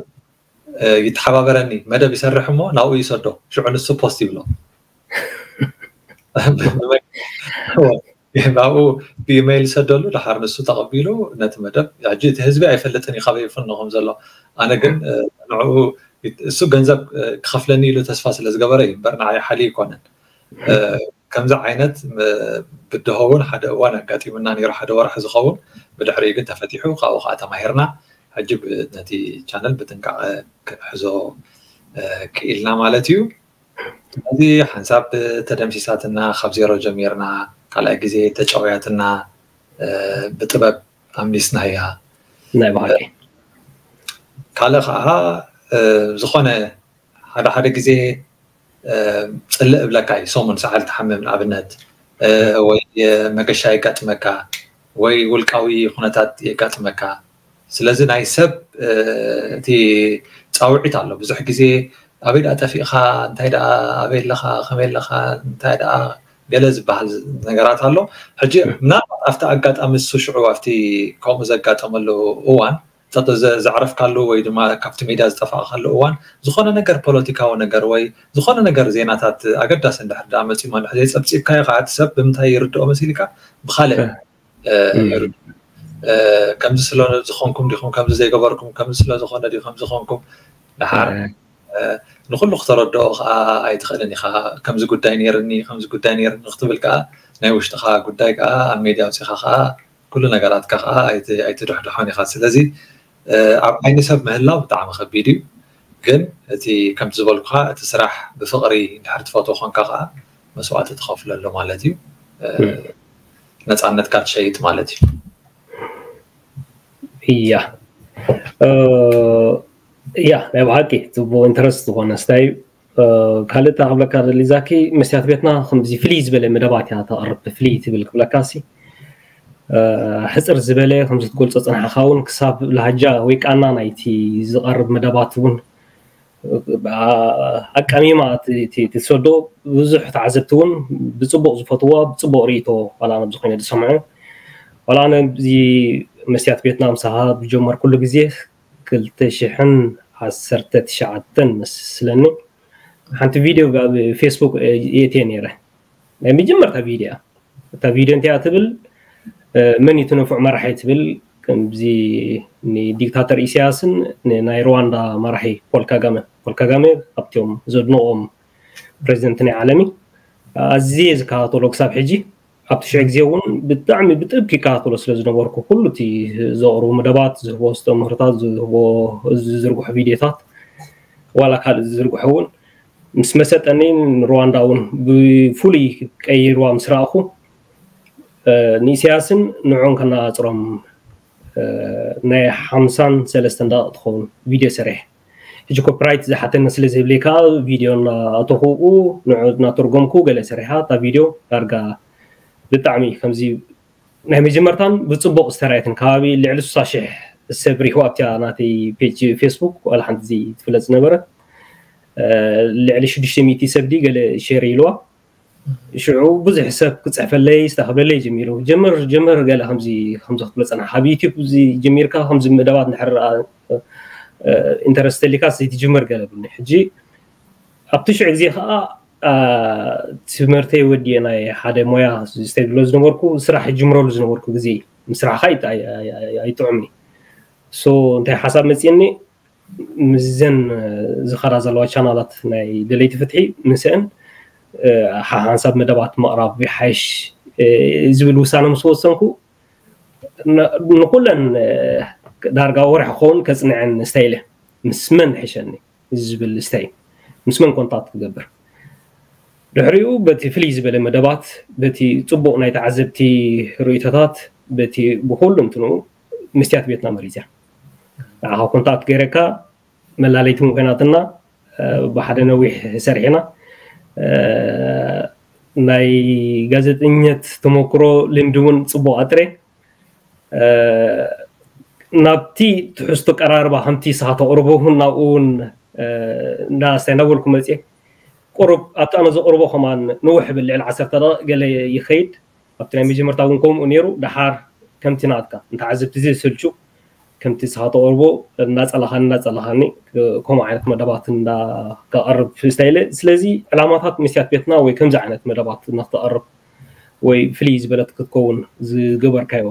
ይተሓባበረኒ መደብ ይሰርሕ እሞ ናብኡ ይሰዶ ሽዑ ንሱ ፖስት ይብሎ ናብኡ ብኢሜይል ይሰደሉ ድሓር ንሱ ተቐቢሉ ነቲ መደብ ሕጂ እቲ ህዝቢ ኣይፈልጥን እዩ ካበይ ይፍኖ ከም ዘሎ ኣነ ግን ንዕኡ እሱ ገንዘብ ክኸፍለኒ ኢሉ ተስፋ ስለ ዝገበረ እዩ እምበር ንዓይ ሓሊ ይኮነን ከምዚ ዓይነት ብድሆ እውን ሓደ እዋን ኣጋጢሙና ነይሩ ሓደ ወርሒ ዝኸውን ብድሕሪኡ ግን ተፈቲሑ ካብኡ ከዓ ተማሂርና ሕጂ ነቲ ቻነል ብጥንቃቐ ክንሕዞ ክኢልና ማለት እዩ ስለዚ ሓንሳብ ተደምሲሳትና ካብ ዜሮ ጀሚርና ካልኣይ ግዜ ተጨውያትና ብጥበብ ኣምሊስናያ ናይ ባህቂ ካልእ ከዓ ዝኾነ ሓደ ሓደ ግዜ ፅልእ እብለካ እዩ ሰሙን ሰዓል ትሓምም ንኣብነት ወይ መገሻ የጋጥመካ ወይ ውልቃዊ ኩነታት የጋጥመካ ስለዚ ናይ ሰብ እቲ ፃውዒት ኣሎ ብዙሕ ግዜ ኣበይ ደኣ ጠፊእኻ እንታይ ደኣ ኣበይ ኣለኻ ከመይ ኣለኻ እንታይ ደኣ ገለ ዝበሃል ነገራት ኣሎ ሕጂ ምናልባት ኣብቲ ኣጋጣሚ እሱ ሽዑ ኣብቲ ከምኡ ዘጋጠመሉ እዋን ዘዕረፍካሉ ወይ ድማ ካብቲ ሜድያ ዝጠፋእካሉ እዋን ዝኾነ ነገር ፖለቲካዊ ነገር ወይ ዝኾነ ነገር ዜናታት ኣገዳሲ እንድሕር ደኣ መፂሞ እንድሕር ዘይፀብፂብካዮ ከዓ እቲ ሰብ ብምንታይ ይርድኦ መሲልካ ብካልእ ከምዚ ስለ ዝኾንኩም ዲኹም ከምዚ ዘይገበርኩም ከምዚ ስለ ዝኾነ ዲ ከምዚ ኾንኩም ደሓር ንኩሉ ክተረድኦ ከዓ ኣይትኽእልን ኢኻ ከምዚ ጉዳይ ነይርኒ ከምዚ ጉዳይ ነይርኒ ክትብል ከዓ ናይ ውሽጥኻ ጉዳይ ከዓ ኣብ ሜድያ ኣውፂኻ ከዓ ኩሉ ነገራትካ ከዓ ኣይትድሕድሖን ኢኻ ስለዚ ኣብ ዓይኒ ሰብ ምህላው ብጣዕሚ ከቢድ እዩ ግን እቲ ከምቲ ዝበልኩኻ እቲ ስራሕ ብፍቕሪ እንድሕር ትፈትዎ ኮንካ ከዓ መስዋእቲ ትኸፍለሉ ማለት እዩ ነፃነትካ ትሸይጥ ማለት እዩ እያ እያ ናይ ብሓቂ ፅቡቅ ኢንተረስት ዝኾነ ስታይ ካልእ ክብለካ ደሊ ዛኪ መስትያት ቤትና ከምዚ ፍልይ ዝበለ መደባት እያ ተቕርብ ፍልይ ትብል ክብለካ ሲ ሕፅር ዝበለ ከምዚ ትገልፆ ፅናሕኻ እውን ክሳብ ላሃጃ ወይ ቃና ናይቲ ዝቐርብ መደባት እውን ኣቃሚማ ትሰዶ ብዙሕ ተዓዘብቲ እውን ብፅቡቅ ዝፈትዋ ብፅቡቅ ርእቶ ዋላ ነብዚ ኮይነ ዝሰምዑ ዋላ ነዚ መስትያት ቤትና ምሳኻ ዝጀመርኩሉ ግዜ ክልተ ሽሕን ዓሰርተ ትሽዓተን መስለኒ ሓንቲ ቪድዮ ኣብ ፌስቡክ የእትየ ነይረ ናይ መጀመርታ ቪድዮ እታ ቪድዮ እንታይ ትብል መን እዩ እቲ ንፉዕ መራሒ ትብል ከምዚ ንዲክታተር ኢሳያስን ናይ ሩዋንዳ መራሒ ፖል ካጋመ ፖል ካጋመ ካብቲኦም ዘድንቆም ፕሬዚደንት ናይ ዓለሚ ኣዝየ ዝከታተሎ ክሳብ ሕጂ ኣብቲ ሽዑ ግዜ እውን ብጣዕሚ ብጥብቂ ይከታተሎ ስለ ዝነበርኩ ኩሉ እቲ ዘቕርቡ መደባት ዝህቦ ዝተምህርታት ዝህቦ ዝዝርግሑ ቪድዮታት ዋላ ካልእ ዝዝርግሑ እውን ምስ መሰጠኒ ንሩዋንዳ እውን ብፍሉይ ቀይርዋ ምስ ረኣኹ ንኢሳያስን ንዕኡን ከነፃፅሮም ናይ ሓምሳን ሰለስተን ደቂቕ ትኸውን ቪድዮ ሰሪሐ ሕጂ ኮፒራይት ዝሓተኒ ስለ ዘይብለይ ከዓ ቪድዮ እናኣተኹ ንዑ እናተርጎምኩ ገለ ሰሪሓ እታ ቪድዮ ዳርጋ ብጣዕሚ ከምዚ ናይ መጀመርታን ብፅቡቅ ዝተራየትን ከባቢ ልዕሊ ስሳ ሽሕ ሰብ ሪኽዋ ኣብቲያ ናተይ ፔጅ ፌስቡክ ዋላ ሓንቲ ዘይትፍለጥ ዝነበረት ልዕሊ ሽዱሽተ ሚእቲ ሰብ ድዩ ገለ ሼር ኢልዋ። ሽዑ ብዙሕ ሰብ ክፅሕፈለይ ዝተኸብለለይ ጀሚሩ። ጀምር ጀምር ገለ ከምዚ ከምዚ ክትብሎ ፀናሕ ኣብ ዩቲብ እዚ ጀሚርካ ከምዚ መደባት እንድሕር ኢንተረስት ተሊካ ዘይትጅምር ገለ ብኒ ሕጂ ኣብቲ ሽዑ ግዜ ከዓ ትምህርተይ ወዲየ ናይ ሓደ ሞያ ዝተብሎ ዝነበርኩ ስራሕ ጅምረሉ ዝነበርኩ ግዜ ምስራሕካ ኣይጥዑምኒ። ሶ እንታይ ሓሳብ መፅእኒ ምስዘን ዝኸዳ ዘለዋ ቻናላት ናይ ደለይቲ ፍትሒ ምስአን ሓንሳብ መደባት ምቕራብ ይሓይሽ ዝብል ውሳነ ምስ ወሰንኩ ንኩለን ዳርጋ ወርሒ ክኸውን ከፅንዐን ስታይለ ምስ መን ሕሸኒ ዝብል ስታይ ምስ መን ኮንታክት ክገብር ድሕሪኡ በቲ ፍልይ ዝበለ መደባት በቲ ፅቡቕ ናይ ተዓዘብቲ ርእይቶታት በቲ ብኩሉ እንትንኡ መስትያት ቤትና መሪፅያ ንዓኻ ኮንታክት ገይረካ መላለይቲ ምኮናትና ብሓደ ነዊሕ ሰሪሕና ናይ ጋዜጠኝነት ተመክሮ ልምዲ እውን ፅቡቅ ኣጥረ ናብቲ ትሕዝቶ ቀራርባ ከምቲ ንስኻ ተቕርቦ እውን ናብኡ እውን እንዳስታይ እናበልኩ መፅየ ቁሩብ ኣብቲ ኣነ ዘቕርቦ ከማን ንውሕ ብል ልዕሊ ዓሰርተ ደቂቕ ገለ ይኸይድ ኣብቲ ናይ መጀመርታ እውን ከምኡ ነይሩ ደሓር ከምቲ ናትካ እንተዓዘብቲ ዘየሰልቹ ከምቲ ንስኻ ተቕርቦ እናፀላኻኒ እናፀላኻኒ ከምኡ ዓይነት መደባት እንዳቀርብ ስታይለ ስለዚ ዕላማታት መስትያት ቤትና ወይ ከምዚ ዓይነት መደባት ንክተቕርብ ወይ ፍልይ ዝበለት ክትከውን ዝገበርካዮ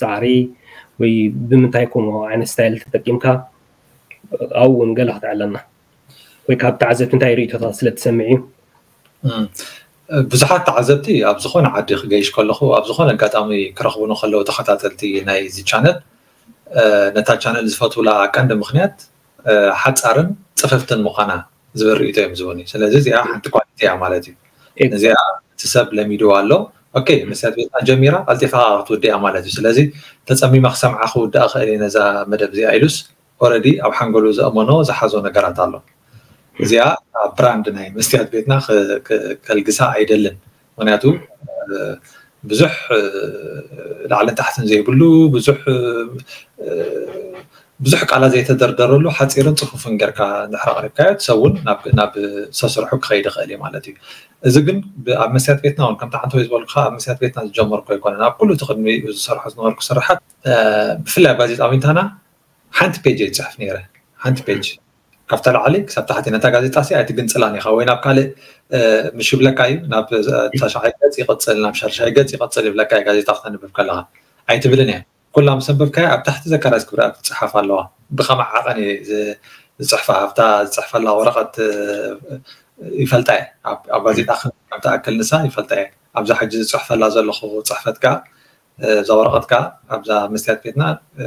ፃዕሪ ወይ ብምንታይ ከምኡ ዓይነት ስታይል ተጠቂምካ ኣብኡ እውን ገለ ክትዕለና ወይ ካብ ተዓዘብቲ እንታይ ርእቶታት ስለ ትሰምዕ እዩ ብዙሓት ተዓዘብቲ ኣብ ዝኾነ ዓዲ ክገይሽ ከለኹ ኣብ ዝኾነ ኣጋጣሚ ክረኽቡኒ ከለዉ ተኸታተልቲ ናይ እዚ ቻነል ነታ ቻነል ዝፈትውላ ቀንዲ ምኽንያት ሓፃርን ፅፍፍትን ምዃና ዝብል ርእቶ እዮም ዝህቡኒ ስለዚ እዚኣ ሓንቲ ኳሊቲ እያ ማለት እዩ እዚኣ እቲ ሰብ ለሚድዋ ኣሎ ኦኬ መስትያት ቤትና ጀሚራ ቀልጢፋ ክትውድእ እያ ማለት እዩ ስለዚ ተፀሚመ ክሰምዓ ክውድኣ ክእል እየ ነዛ መደብ እዚኣ ኢሉስ ኦረዲ ኣብ ሓንጎሉ ዘእመኖ ዝሓዞ ነገራት ኣሎ እዚኣ ኣብ ብራንድ ናይ መስትያት ቤትና ከልግሳ ኣይደልን ምክንያቱ ብዙሕ ላዕልን ታሕትን ዘይብሉ ብዙሕ ብዙሕ ቃላት ዘይተደርደረሉ ሓፂርን ፅፉፍን ጌርካ እንድሕር ኣቅሪብካዮ እቲ ሰብ እውን ናብ ሰስርሑ ክኸይድ ይኽእል እዩ ማለት እዩ እዚ ግን ኣብ መስትያት ቤትና እውን ከምቲ ሓንቲ ወይ ዝበልኩካ ኣብ መስትያት ቤትና ዝጀመርኩ ኣይኮነን ኣብ ኩሉ እቲ ቅድሚ ዝሰርሖ ዝነበርኩ ስርሓት ብፍላይ ኣብ ጋዜጣ ዊንታና ሓንቲ ፔጅ እየ ዝፅሕፍ ነይረ ሓንቲ ፔጅ ካብታ ላዕሊ ክሳብ ታሕቲ ነታ ጋዜጣ ሲ ኣይትግንፅላን ኢኻ ወይ ናብ ካልእ ምሽ ይብለካ እዩ ናብ ታሽዓይ ገፅ ይቕፅል ናብ ሻድሻይ ገፅ ይቕፅል ይብለካ እዩ ጋዜጣ ክተንብብ ከለኻ ኣይትብልን እያ ኩላ ምስ ኣንበብካያ ኣብ ታሕቲ ዘካራዝ ክብራ ክትፅሓፍ ኣለዋ ብኸመ ዓቐን እየ ዝፅሕፋ ኣብታ ዝፅሕፈላ ወረቐት ይፈልጣ እየ ኣብ ጋዜጣ ከም ትኣክል ንሳ ይፈልጣ እየ ኣብዛ ሕጂ ዝፅሕፈላ ዘለኹ ፅሕፈት ከዓ እዛ ወረቐት ከዓ ኣብዛ መስትያት ቤትና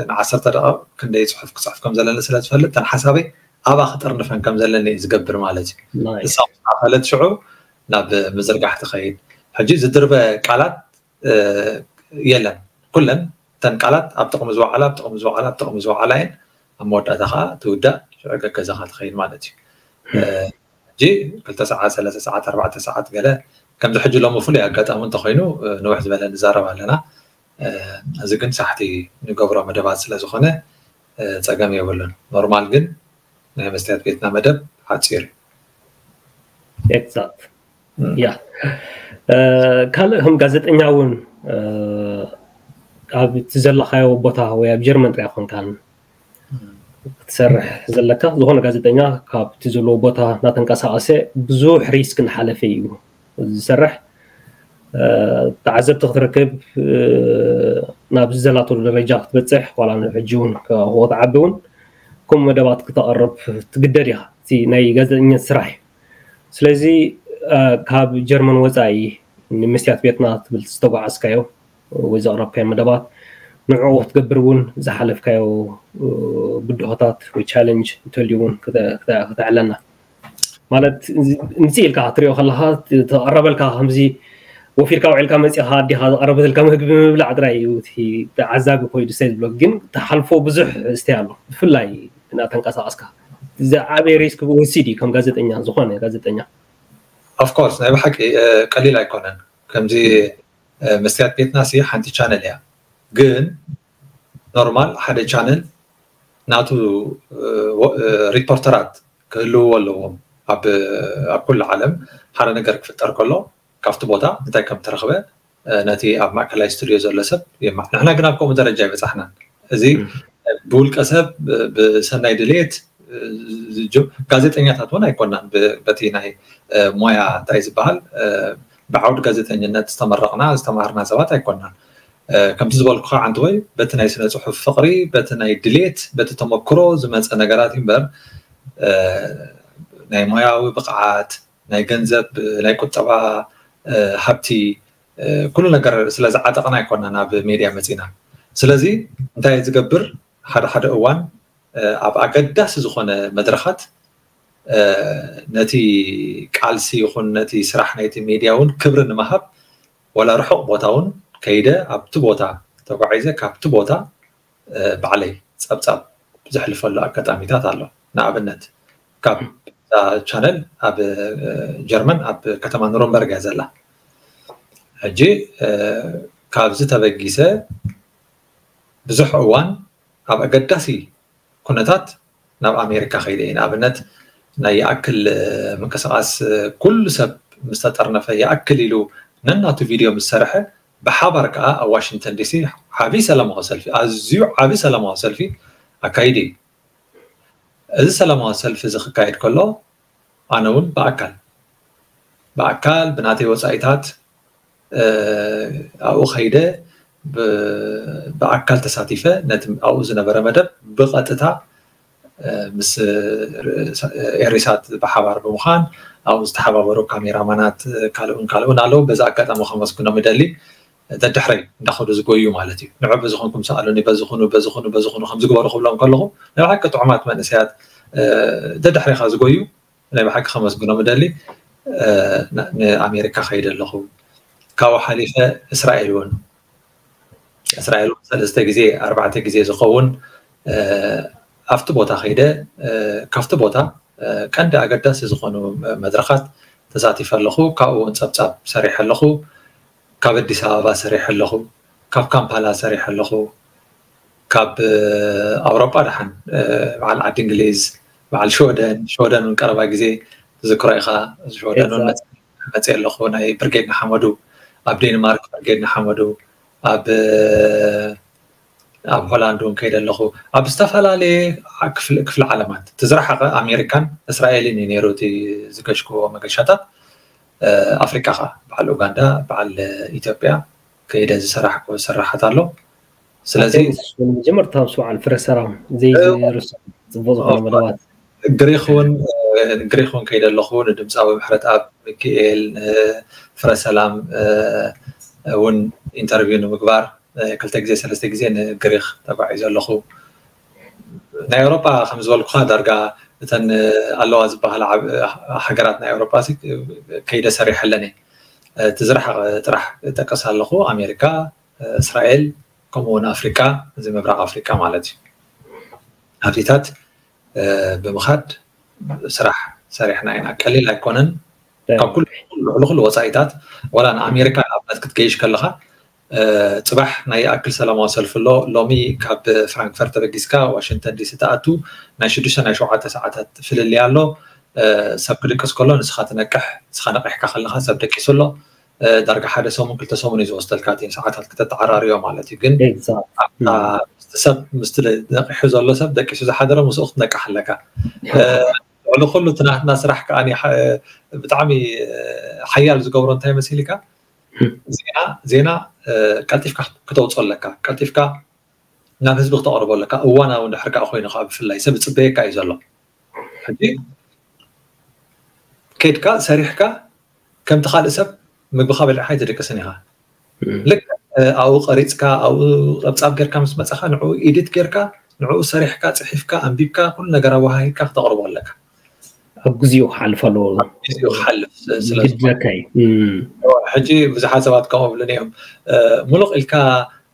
ንዓሰርተ ደቂቕ ክንደይ ፅሑፍ ክፅሕፍ ከም ዘለኒ ስለ ዝፈልጥ እተን ሓሳበይ ኣብኣ ክጥርንፈን ከም ዘለኒ እዩ ዝገብር ማለት እዩ ንሳ ምስ ኣኸለት ሽዑ ናብ ምዝርጋሕ ትኸይድ ሕጂ ዝድርበ ቃላት የለን ኩለን እተን ቃላት ኣብ ጥቕሚ ዝወዓላ ኣብ ጥቕሚ ዝወዓላ ኣብ ጥቕሚ ዝወዓላ እየን ኣብ መወዳእታ ከዓ ትውዳእ ሽዑ ገገዛኻ ትኸይድ ማለት እዩ ሕጂ ክልተ ሰዓት ሰለስተ ሰዓት ኣርባዕተ ሰዓት ገለ ከምዚ ሕጂ ሎሚ ፍሉይ ኣጋጣሚ እንተኮይኑ ንውሕ ዝበለ ንዛረብ ኣለና እዚ ግን ሳሕቲ ንገብሮ መደባት ስለዝኮነ ፀገም የብሉን ኖርማል ግን ናይ መስትያት ቤትና መደብ ሓፂር እዩ ኤግዛክት ያ ካልእ ከም ጋዜጠኛ እውን ኣብ እቲ ዘለካዮ ቦታ ወይ ኣብ ጀርመን ጥራይ ኮንካን ክትሰርሕ ዘለካ ዝኾነ ጋዜጠኛ ካብቲ ዘለዎ ቦታ እናተንቀሳቀሰ ብዙሕ ሪስክ እናሓለፈ እዩ ዝሰርሕ ተዓዘብቲ ክትረክብ ናብ ዝዘላተሉ ደረጃ ክትበፅሕ ዋላ ሕጂ እውን ክትዓቢ እውን ከምኡ መደባት ክተቐርብ ትግደድ ኢኻ እቲ ናይ ጋዜጠኝነት ስራሕ እዩ ስለዚ ካብ ጀርመን ወፃኢ ንምስትያት ቤትና ትብል ዝተጓዓዝካዮ ወይ ዘቕረብካዮ መደባት ንዕኡ ክትገብር እውን ዝሓለፍካዮ ብድሆታት ወይ ቻለንጅ እንተልዩ እውን ክተዕለና ማለት ምፅእ ኢልካ ክትሪኦ ከለካ ተቐረበልካ ከምዚ ወፊርካ ውዒልካ መፂኻ ኣዲኻ ዝቐረበትልካ ምግቢ ምብላዕ ጥራይ እዩ ተዓዛቢ ኮይዱ ስታይ ዝብሎ ግን ተሓልፎ ብዙሕ ስታይ ኣሎ ብፍላይ እናተንቀሳቀስካ ዝዓበየ ሪስክ ብውስድ እዩ ከም ጋዜጠኛ፣ ዝኾነ ጋዜጠኛ። Of course ናይ ብሓቂ ቀሊል ኣይኮነን። ከምዚ መስትያት ቤትና ሲ ሓንቲ ቻነል እያ፣ ግን ኖርማል ሓደ ቻነል ናቱ ሪፖርተራት ክህልውዎ ኣለዎም። ኣብ ኩሉ ዓለም ሓደ ነገር ክፍጠር ከሎ ካብቲ ቦታ እንታይ ከም ተረኽበ ነቲ ኣብ ማእከላይ ስቱድዮ ዘሎ ሰብ የማ ንሕና ግን ኣብ ከምኡ ደረጃ ይበጻሕናን። እዚ ብውልቀ ሰብ ብሰናይ ድሌት ጋዜጠኛታት እውን ኣይኮናን። በቲ ናይ ሞያ እንታይ ዝበሃል ብዓውድ ጋዜጠኝነት ዝተመረቕና ዝተማህርና ሰባት ኣይኮናን። ከምቲ ዝበልኩ ከዓ ዓንተወይ በቲ ናይ ስነ ፅሑፍ ፍቕሪ፣ በቲ ናይ ድሌት፣ በቲ ተመክሮ ዝመፀ ነገራት እምበር ናይ ሞያዊ ብቕዓት፣ ናይ ገንዘብ፣ ናይ ቁጠባ ሃብቲ፣ ኩሉ ነገር ስለ ዝዓጠቕና ኣይኮና ናብ ሜድያ መፂና። ስለዚ እንታይ ዝገብር ሓደ ሓደ እዋን ኣብ ኣገዳሲ ዝኾነ መድረኻት ነቲ ቃልሲ ይኹን ነቲ ስራሕ ናይቲ ሜድያ እውን ክብሪ ንምሃብ ዋላ ርሑቕ ቦታ እውን ከይደ ኣብቲ ቦታ ተጓዒዘ ካብቲ ቦታ ባዕለይ ፀብፃብ ዘሕልፈሉ ኣጋጣሚታት ኣሎ። ንኣብነት ካብ ቻነል ኣብ ጀርመን ኣብ ከተማ ኑረምበርግ እያ ዘላ። ሕጂ ካብዚ ተበጊሰ ብዙሕ እዋን ኣብ ኣገዳሲ ኩነታት ናብ ኣሜሪካ ከይደ እየ። ንኣብነት ናይ ይኣክል ምንቅስቃስ ኩሉ ሰብ ምስ ተጠርነፈ ይኣክል ኢሉ ነናቱ ቪድዮ ምስ ሰርሐ ብሓባር ከዓ ኣብ ዋሽንግተን ዲሲ ዓብዪ ሰላማዊ ሰልፊ፣ ኣዝዩ ዓብዪ ሰላማዊ ሰልፊ ኣካይዱ እዩ። እዚ ሰላማዊ ሰልፊ እዚ ክካየድ ከሎ ኣነ እውን ብኣካል ብኣካል ብናተይ ወፃኢታት ኣብኡ ከይደ ብኣካል ተሳቲፈ ነቲ ኣብኡ ዝነበረ መደብ ብቐጥታ ምስ ኤሪሳት ብሓባር ብምዃን ኣብኡ ዝተሓባበሩ ካሜራማናት ካልኡን ካልኡን ኣለዉ። በዚ ኣጋጣሚ ከመስግኖም እደሊ። ደድሕረይ እንዳኸዱ ዝጎዩ ማለት እዩ። ንዑ በዚ ኮንኩም ሰኣሉኒ፣ በዚ ኩኑ፣ በዚ ኩኑ፣ በዚ ኩኑ ከም ዝግበሩ ክብሎም ከለኹ ናይ ብሓቂ ጥዑማት መንእሰያት ደድሕሬኻ ዝጎዩ ናይ ብሓቂ ከመስግኖም እደሊ። ንኣሜሪካ ከይደ ኣለኹ። ካብኡ ሓሊፈ እስራኤል እውን እስራኤል እውን ሰለስተ ግዜ ኣርባዕተ ግዜ ዝኸውን ኣብቲ ቦታ ከይደ ካብቲ ቦታ ቀንዲ ኣገዳሲ ዝኾኑ መድረኻት ተሳቲፈ ኣለኹ። ካብኡ እውን ፀብፃብ ሰሪሐ ኣለኹ። ካብ ኣዲስ ኣበባ ሰሪሐ ኣለኹ። ካብ ካምፓላ ሰሪሐ ኣለኹ። ካብ ኣውሮጳ ደሓን በዓል ዓዲ እንግሊዝ፣ በዓል ሽወደን፣ ሽወደን እውን ቀረባ ግዜ ትዝክሮ ኢኻ። ሽወደን እውን መፅእ ኣለኹ። ናይ ብርጌድ ንሓመዱ ኣብ ዴንማርክ፣ ብርጌድ ንሓመዱ ኣብ ኣብ ሆላንድ እውን ከይደ ኣለኹ። ኣብ ዝተፈላለየ ክፍሊ ዓለማት ትዝረሓቐ ኣሜሪካን እስራኤልን እዩ ነይሩ እቲ ዝገሽክዎ መገሻታት። ኣፍሪቃ ከዓ በዓል ኡጋንዳ፣ በዓል ኢትዮጵያ ከይደ ዝሰራሕኩ ስራሓት ኣሎ። ስለዚ መጀመርታ ምስ በዓል ፍረ ሰላም ዘይዝርስ ፅቡቅ ዝኾነ መደባት ግሪክ እውን ግሪክ እውን ከይደ ኣለኹ። ንድምፃዊ ምሕረት ኣብ ሚካኤል ፍረ ሰላም እውን ኢንተርቪው ንምግባር ክልተ ግዜ ሰለስተ ግዜ ንግሪክ ተጓዒዘ ኣለኹ። ናይ ኤውሮጳ ከም ዝበልኩኻ ዳርጋ እተን ኣለዋ ዝበሃላ ሃገራት ናይ ኤውሮጳ ከይደ ሰሪሐለን እየ። እቲ ዝረሓቐ ጥራሕ ጠቀስ ኣለኹ፣ ኣሜሪካ፣ እስራኤል፣ ከምኡ እውን ኣፍሪቃ፣ እዚ ምብራቕ ኣፍሪቃ ማለት እዩ። ኣብዚታት ብምኻድ ስራሕ ሰሪሕና ኢና። ቀሊል ኣይኮነን። ካብ ኩሉ ልዕሊ ኩሉ ወፃኢታት ዋላ ንኣሜሪካ ንኣብነት ክትገይሽ ከለካ ፅባሕ ናይ ይኣክል ሰላማዊ ሰልፊ ኣሎ። ሎሚ ካብ ፍራንክፈርት ተበጊስካ ዋሽንግተን ዲሲ ትኣቱ ናይ ሽዱሽተ ናይ ሸውዓተ ሰዓታት ፍልልይ ኣሎ። ሰብ ክድቅስ ከሎ ንስኻ ትነቅሕ፣ ንስኻ ነቂሕካ ከለካ ሰብ ደቂሱ ኣሎ። ዳርጋ ሓደ ሰሙን ክልተ ሰሙን እዩ ዝወስደልካ እቲ ሰዓታት ክተተዓራርዮ ማለት እዩ። ግን ሰብ ምስቲ ነቂሑ ዘሎ ሰብ ደቂሱ ዝሓደረ ምስኡ ክትነቅሕ ኣለካ። ልዕሊ ኩሉ እቲ ናትና ስራሕ ከዓ ብጣዕሚ ሓያል ዝገብሮ እንታይ መሲልካ ዜና ዜና ቀልጢፍካ ክተውፅኦ ኣለካ። ቀልጢፍካ ናብ ህዝቢ ክተቕርቦ ኣለካ። እዋናዊ እንድሕር ከዓ ኮይኑ ከዓ ብፍላይ ሰብ ይፅበየካ እዩ ዘሎ። ሕጂ ከይድካ ሰሪሕካ ከምቲ ካልእ ሰብ ምግብኻ በሊዕካ ኣይትድቅስን ኢኻ። ልክ ኣብኡ ቀሪፅካ ኣብኡ ፀብፃብ ጌርካ ምስ መፀኻ ንዕኡ ኢዲት ጌርካ ንዕኡ ሰሪሕካ ፅሒፍካ ኣንቢብካ ኩሉ ነገር ኣወሃሂድካ ክተቕርቦ ኣለካ። ኣብ ግዜኡ ክሓልፍ ኣለዎ። ግዜኡ ክሓልፍ ስለዝኾነ ግድለካ እዩ። ሕጂ ብዙሓት ሰባት ከምኡ ብሉኒ እዮም። ሙሉቕ ኢልካ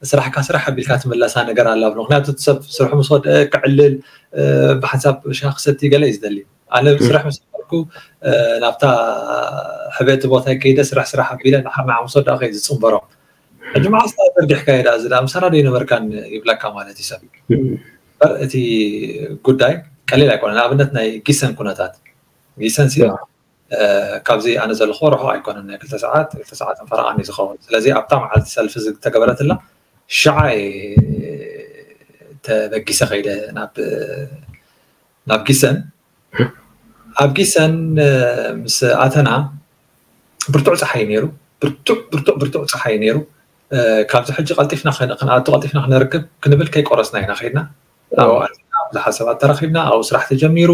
ስራሕካ ስራሕ ኣቢልካ ትምለሳ ነገር ኣላ። ምክንያቱ እቲ ሰብ ስርሑ ምስ ወደአ ክዕልል፣ ብሓንሳብ ሻሂ ክሰቲ ገለ እዩ ዝደሊ። ኣነ ስራሕ ምስ ነበርኩ ናብታ ሕበቲ ቦታ ከይደ ስራሕ ስራሕ ኣቢለ ንሓር ንሓሙስ ወዳእከ ዝፅንበሮም። ሕጂ መዓስ ዘርጊሕካ የዳ እዚ ምሳና ዶ ይነበርካን ይብለካ ማለት እዩ ሰብ። እቲ ጉዳይ ቀሊል ኣይኮነ። ንኣብነት ናይ ጊሰን ኩነታት፣ ጊሰን ሲ ካብዚ ኣነ ዘለኹ ርሑቕ ኣይኮነን፣ ናይ ክልተ ሰዓት ክልተ ሰዓትን ፈረቓን እዩ ዝኸውን። ስለዚ ኣብታ መዓልቲ ሰልፊ ዝተገበረትላ ሽዓ ተበጊሰ ከይደ ናብ ናብ ጊሰን። ኣብ ጊሰን ምስ ኣተና ብርቱዕ ፀሓይ ነይሩ፣ ብርቱዕ ብርቱዕ ብርቱዕ ፀሓይ ነይሩ። ካብዚ ሕጂ ቀልጢፍና ክንኣቱ ቀልጢፍና ክነርክብ ክንብል ከይቆረስና ኢና ከይድና። ኣብኡ ኣቲና ብዙሓት ሰባት ተራኺብና፣ ኣብኡ ስራሕ ተጀሚሩ።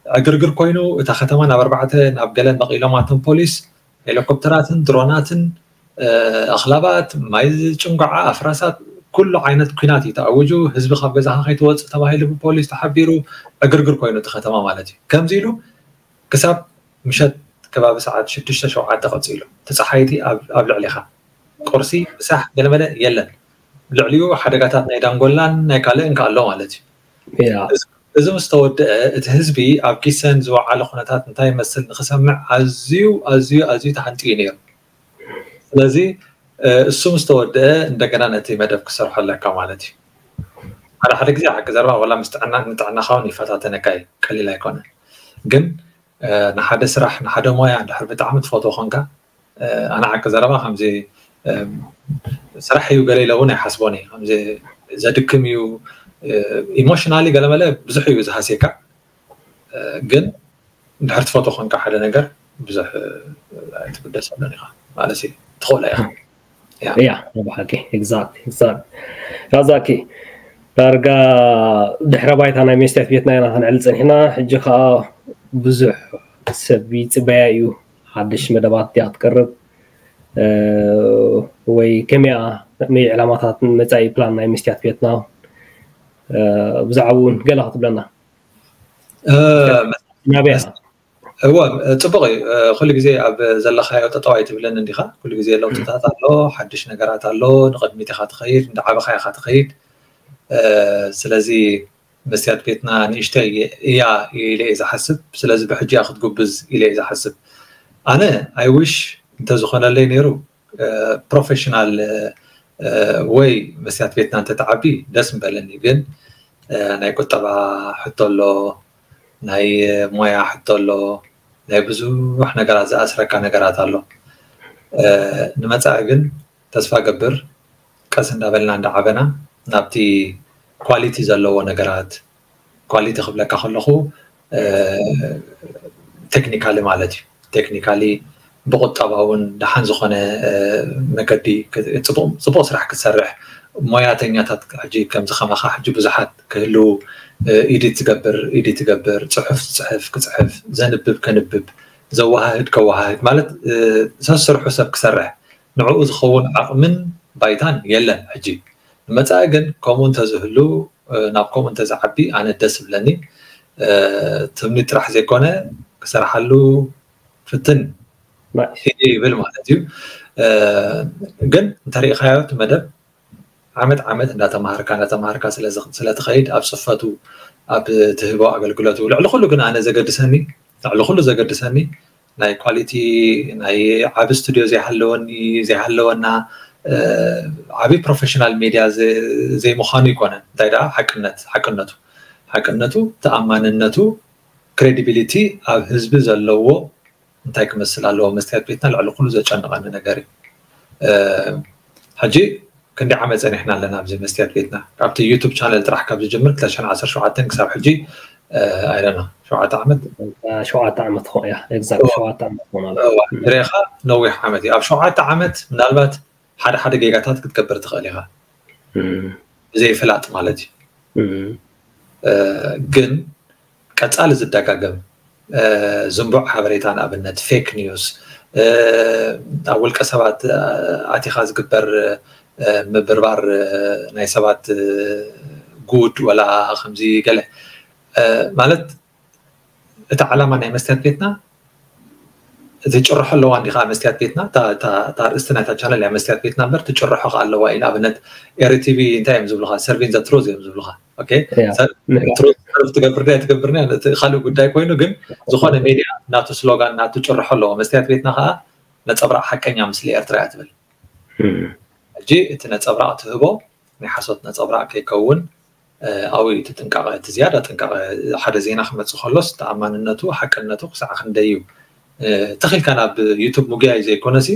ዕግርግር ኮይኑ እታ ከተማ ናብ ኣርባዕተ ናብ ገለ መቒሎማቶም ፖሊስ። ሄሊኮፕተራትን ድሮናትን ኣኽላባት፣ ማይ ዝጭንጓዓ፣ ኣፍራሳት፣ ኩሉ ዓይነት ኲናት እዩ ተኣዊጁ። ህዝቢ ካብ ገዛኻ ከይትወፅእ ተባሂሉ ብፖሊስ ተሓቢሩ ዕግርግር ኮይኑ እቲ ከተማ ማለት እዩ። ከምዚ ኢሉ ክሳብ ምሸት ከባቢ ሰዓት ሽዱሽተ ሸውዓተ ቀፂሉ። እቲ ፀሓይቲ ኣብ ልዕሊኻ ቁርሲ ምሳሕ ገለመለ የለን። ልዕሊኡ ሓደጋታት ናይ ዳንጎላን ናይ ካልእን ከ ኣሎ ማለት እዩ። እዚ ምስ ተወደአ እቲ ህዝቢ ኣብ ጊሰን ዝወዓለ ኩነታት እንታይ ይመስል ንክሰምዕ ኣዝዩ ኣዝዩ ኣዝዩ ተሃንጥዩ ነይሩ። ስለዚ እሱ ምስ ተወደአ እንደገና ነቲ መደብ ክሰርሖ ኣለካ ማለት እዩ። ሓደ ሓደ ግዜ ሓቂ ዘረባ ዋላ ምስ ጥዕና ንጥዕናኻ እውን ይፈታተነካ እዩ፣ ቀሊል ኣይኮነን። ግን ንሓደ ስራሕ ንሓደ ሞያ እንድሕር ብጣዕሚ ትፈትዎ ኮንካ ኣነ ሓቂ ዘረባ ከምዚ ስራሕ እዩ ገለ ኢለ እውን ኣይሓስቦን እየ። ከምዚ ዘድክም እዩ፣ ኢሞሽናሊ ገለመለ ብዙሕ እዩ ዝሃስየካ። ግን እንድሕር ትፈትዎ ኮንካ ሓደ ነገር ብዙሕ ኣይትግደሰሉን ኢኻ ማለት እዩ። ትኽእሎ ኢኻ። ያ ብሓቂ ኤግዛክት ኤግዛክት ራዛኪ ዳርጋ ድሕረ ባይታ ናይ መስትያት ቤትና ኢና ክንዕል ፀኒሕና። ሕጂ ከዓ ብዙሕ ሰብ ይፅበያ እዩ። ሓድሽ መደባት ድያ ክትቀርብ ወይ ከመይ ከመይ ዕላማታት መፃኢ ፕላን ናይ መስትያት ቤትና ብዛዕባ እውን ገለ ክትብለና ናበያ? እወ፣ ፅቡቕ እዩ። ኩሉ ግዜ ኣብ ዘለኻዮ ጠጠው ኣይትብልን እንዲኻ። ኩሉ ግዜ ለውጥታት ኣሎ፣ ሓድሽ ነገራት ኣሎ፣ ንቕድሚት ኢኻ ትኸይድ፣ እንዳዓበኻ ኢኻ ትኸይድ። ስለዚ መስትያት ቤትና ንእሽተይ እያ ኢለ እየ ዝሓስብ። ስለዚ ብሕጂ እያ ክትጉብዝ ኢለ እየ ዝሓስብ። ኣነ I wish እንተዝኾነለይ ነይሩ ፕሮፌሽናል ወይ መስትያት ቤትና እንተትዓቢ ደስ ምበለኒ። ግን ናይ ቁጠባ ሕቶ ኣሎ፣ ናይ ሞያ ሕቶ ኣሎ፣ ናይ ብዙሕ ነገራት ዝኣስረካ ነገራት ኣሎ። ንመፃኢ ግን ተስፋ ገብር ቀስ እንዳበልና እንዳዓበና ናብቲ ኳሊቲ ዘለዎ ነገራት፣ ኳሊቲ ክብለካ ከለኹ ቴክኒካሊ ማለት እዩ። ቴክኒካሊ ብቁጠባውን ደሓን ዝኾነ መገዲ ፅቡቕ ስራሕ ክትሰርሕ፣ ሞያተኛታት ሕጂ ከምዚ ከማኻ ሕጂ ብዙሓት ክህልው፣ ኢዲት ዝገብር ኢዲት ዝገብር፣ ፅሑፍ ዝፅሕፍ ክፅሕፍ፣ ዘንብብ ከንብብ፣ ዘወሃህድ ከወሃህድ ማለት ሰስርሑ ሰብ ክሰርሕ ንዕኡ ዝኸውን ዓቕምን ባይታን የለን። ሕጂ ንመፃኢ ግን ከምኡ እንተዝህሉ ናብ ከምኡ እንተዝዓቢ ኣነ ደስ ይብለኒ። ትምኒት ጥራሕ ዘይኮነ ክሰርሓሉ ፍትን ይብል ማለት እዩ። ግን እንተሪኢኻዮ እቲ መደብ ዓመት ዓመት እንዳተማሃርካ እንዳተማሃርካ ስለትኸይድ ኣብ ፅፈቱ ኣብ ትህቦ ኣገልግሎት ልዕሊ ኩሉ ግን ኣነ ዘገድሰኒ ልዕሊ ኩሉ ዘገድሰኒ ናይ ኳሊቲ ናይ ዓቢ ስቱድዮ ዘይሃለወኒ ዘይሃለወና ዓቢ ፕሮፌሽናል ሜድያ ዘይምዃኑ ይኮነ እንታይ ደኣ ሓቅነት ሓቅነቱ ሓቅነቱ ተኣማንነቱ ክሬዲቢሊቲ ኣብ ህዝቢ ዘለዎ እንታይ ክመስል ኣለዎ መስትያት ቤትና ልዕሊ ኩሉ ዘጨንቐኒ ነገር እዩ። ሕጂ ክንደይ ዓመት ፀኒሕና ኣለና ኣብዚ መስትያት ቤትና ካብቲ ዩቱብ ቻነል ጥራሕ ካብ ዝጅምር ክልተ ሽሕን ዓሰርተ ሸውዓተን ክሳብ ሕጂ ኣይደና ሸውዓተ ዓመት ሸውዓተ ዓመት ኾ እያ ኤግዛክት ሸውዓተ ዓመት ኾና ሬኻ ነዊሕ ዓመት እዩ። ኣብ ሸውዓተ ዓመት ምናልባት ሓደ ሓደ ጌጋታት ክትገብር ትኽእል ኢኻ ብዘይፍላጥ ማለት እዩ። ግን ቀፃሊ ዝደጋገም ዝንቡዕ ሓበሬታ ንኣብነት ፌክ ኒውስ ኣብ ውልቀ ሰባት ኣቲኻ ዝግበር ምብርባር ናይ ሰባት ጉድ ወላ ከምዚ ገለ ማለት እቲ ዓላማ ናይ መስትያት ቤትና ትጭርሖ ኣለዋ እንዲኻ መስትያት ቤትና? እታ- እታ እታ ኣርእስቲ ናይታ ቻነል እያ መስትያት ቤትና እምበር ትጭርሖ ከ ኣለዋ እዩ። ንኣብነት ኤሪ ቲቪ እንታይ እዮም ዝብሉኻ? ሰርቪን ዘ ትሩዝ እዮም ዝብሉኻ። ኦኬ፣ ያ፣ ሰር- ምሕረት። ትሩዝ ሰርቭ ትገብር ድያ ትገብር ድያ እቲ ካልእ ጉዳይ ኮይኑ፣ ግን ዝኾነ ሜድያ ናቱ ስሎጋን ናቱ ጭርሖ ኣለዎ። መስትያት ቤትና ከዓ ነፀብራቕ ሓቀኛ ምስሊ ኤርትራ እያ ትብል። እም፣ ሕጂ እቲ ነፀብራቕ ትህቦ ናይ ሓሶት ነፀብራቕ ከይከውን ኣብኡ እዩ እቲ ጥንቃቐ፣ እቲ ዝያዳ ጥንቃቐ። ሓደ ዜና ክመፅእ ከሎስ ተኣማንነቱ ሓቅነቱ ክሳዕ ክንደይ እዩ ተኺልካ ናብ ዩቱብ ምጉያይ ዘይኮነሲ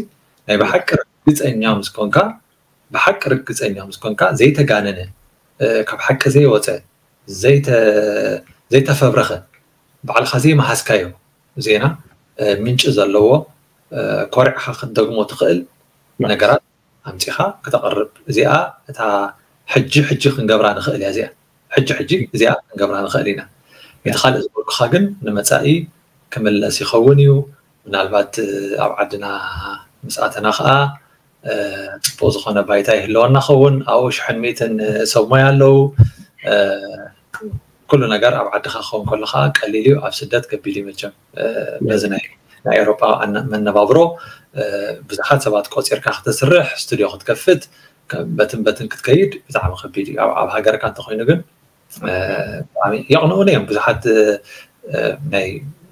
ናይ ብሓቂ ርግፀኛ ምስ ኮንካ ብሓቂ ርግፀኛ ምስ ኮንካ ዘይተጋነነ ካብ ሓቂ ዘይወፀ ዘይተፈብረኸ ባዕልኻ ዘይመሃዝካዮ ዜና ምንጪ ዘለዎ ኮሪዕኻ ክትደግሞ ትኽእል ነገራት ኣምፂኻ ክተቕርብ። እዚኣ እታ ሕጂ ሕጂ ክንገብራ ንኽእል እያ። እዚኣ ሕጂ ሕጂ እዚኣ ክንገብራ ንኽእል ኢና። እቲ ካልእ ዝበልኩኻ ግን ንመፃኢ ክምለስ ይኸውን እዩ። ምናልባት ኣብ ዓድና ምስ ኣተና ከዓ ፅቡቅ ዝኾነ ባይታ ይህልወና ኸውን። ኣብኡ ሽሕን ሚእትን ሰብ ሞያ ኣለዉ። ኩሉ ነገር ኣብ ዓድኻ ክኸውን ከሎ ከዓ ቀሊል እዩ፣ ኣብ ስደት ከቢድ እዩ። መቸም በዚ ናይ ናይ ኤሮጳ መነባብሮ ብዙሓት ሰባት ቆፂርካ ክትስርሕ ስቱድዮ ክትከፍት በትን በትን ክትከይድ ብጣዕሚ ከቢድ እዩ። ኣብ ሃገርካ እንተኮይኑ ግን የቕንኡኒ እዮም። ብዙሓት ናይ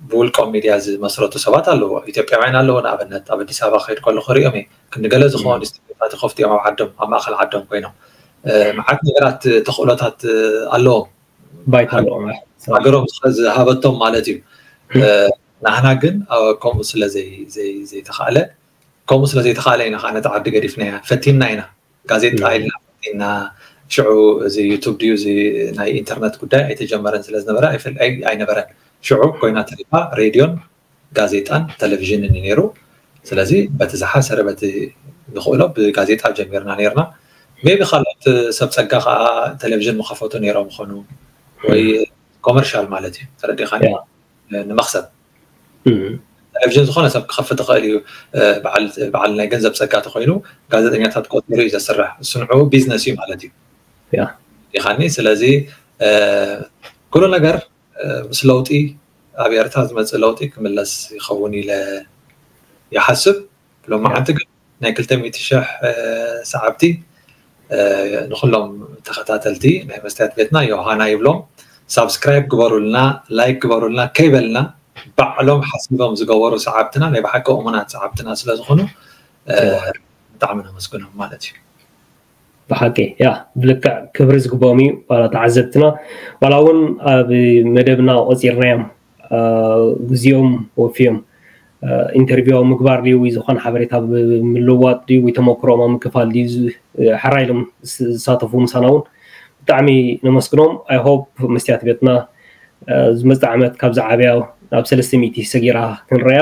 ብውልቆም ሚድያ ዝመስረቱ ሰባት ኣለዎ፣ ኢትዮጵያውያን ኣለዎ። ንኣብነት ኣብ ኣዲስ ኣበባ ክኸይድ ከለኹ ሪኦም እየ። ክንዲ ገለ ዝኸውን ስቱድዮታት ይኸፍቱ እዮም ኣብ ዓዶም፣ ኣብ ማእኸል ዓዶም ኮይኖም። መዓት ነገራት ተኽእሎታት ኣለዎም፣ ባይታ ኣለዎም። ሃገሮም ዝሃበቶም ማለት እዩ። ናህና ግን ከምኡ ስለ ዘይተኻእለ ከምኡ ስለ ዘይተኻእለ ኢና ከዓ ነቲ ዓዲ ገዲፍናያ ፈቲንና ኢና። ጋዜጣ ኢልና ኢና ሽዑ እዚ ዩቱብ ድዩ እዚ ናይ ኢንተርነት ጉዳይ ኣይተጀመረን ስለ ዝነበረ ኣይነበረን። ሽዑ ኮይና ተሪፋ ሬድዮን ጋዜጣን ቴሌቪዥንን እዩ ነይሩ። ስለዚ በቲ ዝሓሰረ በቲ ንኽእሎ ብጋዜጣ ጀሚርና ነይርና። ሜቢ ካልኦት ሰብ ፀጋ ከዓ ቴሌቪዥን ምኸፈቱ ነይሮም ይኾኑ ወይ ኮመርሻል ማለት እዩ ተረዲኻኒ። ንመኽሰብ ቴሌቪዥን ዝኾነ ሰብ ክኸፍት ይኽእል እዩ። በዓል ናይ ገንዘብ ፀጋ ተኮይኑ ጋዜጠኛታት ቆፂሩ እዩ ዘስርሕ። እሱ ንዑ ቢዝነስ እዩ ማለት እዩ። ዲኻኒ ስለዚ ኩሉ ነገር ምስ ለውጢ ኣብ ኤርትራ ዝመፅእ ለውጢ ክምለስ ይኸውን ኢለ ይሓስብ። ሎማዓንቲ ግን ናይ ክልተ ሚእቲ ሽሕ ሰዓብቲ ንኩሎም ተኸታተልቲ ናይ መስትያት ቤትና ዮሃና ይብሎም። ሳብስክራይብ ግበሩልና፣ ላይክ ግበሩልና ከይበልና ባዕሎም ሓሲቦም ዝገበሩ ሰዓብትና ናይ ብሓቂ እሙናት ሰዓብትና ስለዝኾኑ ብጣዕሚ ነመስግኖም ማለት እዩ። ብሓቂ ያ ብልክዕ ክብሪ ዝግብኦም እዩ። ዋላ ተዓዘብትና ዋላ እውን ኣብ መደብና ቆፂርናዮም ግዜኦም ወፊዮም ኢንተርቪው ኣብ ምግባር ድዩ ወይ ዝኾነ ሓበሬታ ምልዋጥ ድዩ ወይ ተመክሮኦም ኣብ ምክፋል ድዩ ሕራይ ኢሎም ዝሳተፉ ምሳና እውን ብጣዕሚ ነመስግኖም። ኣይ ሆፕ መስትያት ቤትና ዝመፅእ ዓመት ካብ ዝዓብያ ናብ ሰለስተ ሚእቲ ሰጊራ ክንረያ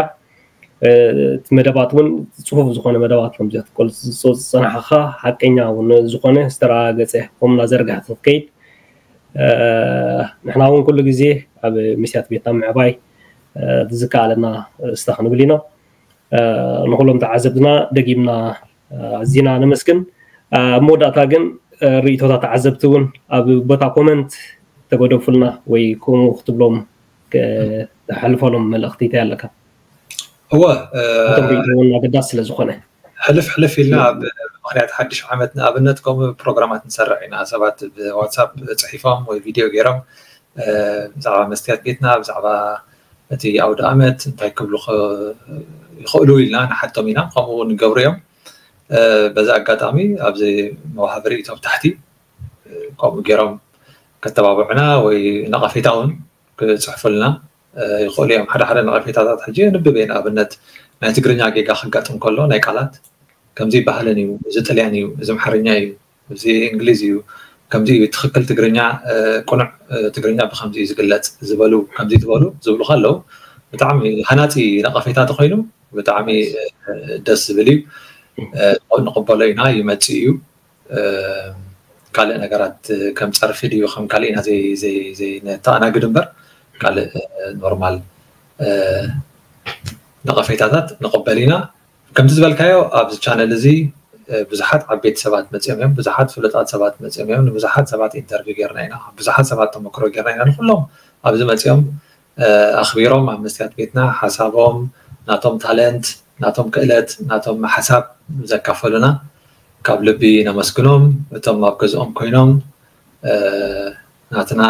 እቲ መደባት እውን ፅፉፍ ዝኾነ መደባት ከም ዝፀናሕኻ ሓቀኛ እውን ዝኾነ ዝተረጋገፀ ኮምና ዘርጋሕቲ ክትከይድ ንሕና እውን ኩሉ ግዜ ኣብ መስትያት ቤትና ምዕባይ ዝከኣለና ስታ ክንብል ኢና። ንኩሎም ተዓዘብትና ደጊምና ኣዚና ነመስግን። ኣብ መወዳእታ ግን ርእይቶታት ተዓዘብቲ እውን ኣብ ቦታ ኮመንት ተገደፉልና ወይ ከምኡ ክትብሎም ተሕልፈሎም መልእኽቲ እንታይ ኣለካ? እወ እቶም ርእይቶውን ኣገዳሲ ስለ ዝኾነ ሕልፍ ሕልፍ ኢልና ኣብ ምክንያት ሓድሽ ዓመት ንኣብነት ከምኡ ፕሮግራማት ንሰርዕ ኢና። ሰባት ብዋትሳፕ ፅሒፎም ወይ ቪድዮ ገይሮም ብዛዕባ መስትያት ቤትና ብዛዕባ እቲ ኣውደ ኣመት እንታይ ክብሉ ይኽእሉ ኢልና ንሓቶም ኢና። ከምኡ ንገብሩ እዮም። በዚ ኣጋጣሚ ኣብዚ መውሃቢ ርእይቶ ኣብ ታሕቲ ከምኡ ገይሮም ከተባብዑና ወይ ነቐፌታ እውን ክፅሕፉልና ይኽእሉ እዮም። ሓደ ሓደ ነቐፌታታት ሕጂ የንብብ እየ። ንኣብነት ናይ ትግርኛ ጌጋ ከጋጥም ከሎ ናይ ቃላት ከምዚ ይበሃልን እዩ፣ እዚ ጥልያን እዩ፣ እዚ ኣምሓርኛ እዩ፣ እዚ እንግሊዝ እዩ፣ ከምዚ እዩ ትኽክል ትግርኛ፣ ቅኑዕ ትግርኛ ብከምዚ እዩ ዝግለፅ ዝበሉ ከምዚ ትበሉ ዝብሉኻ ኣለዉ። ብጣዕሚ ሃናፂ ነቐፌታ ተኮይኑ ብጣዕሚ ደስ ዝብል እዩ። ንቕበሎ ኢና፣ ይመፅእ እዩ። ካልእ ነገራት ከም ፀርፊ ድዩ ከም ካልእ ኢና ዘይነተኣናግድ እምበር ካልእ ኖርማል ነቐፌታታት ንቕበል ኢና። ከምቲ ዝበልካዮ ኣብዚ ቻነል እዚ ብዙሓት ዓበይቲ ሰባት መፅኦም እዮም፣ ብዙሓት ፍሉጣት ሰባት መፅኦም እዮም። ንብዙሓት ሰባት ኢንተርቪው ጌርና ኢና፣ ብዙሓት ሰባት ተመክሮ ጌርና ኢና። ንኩሎም ኣብዚ መፅኦም ኣኽቢሮም ኣብ መስትያት ቤትና ሓሳቦም ናቶም ታለንት፣ ናቶም ክእለት፣ ናቶም ሓሳብ ዘካፈሉና ካብ ልቢ ነመስግኖም። እቶም ኣብ ገዝኦም ኮይኖም ናትና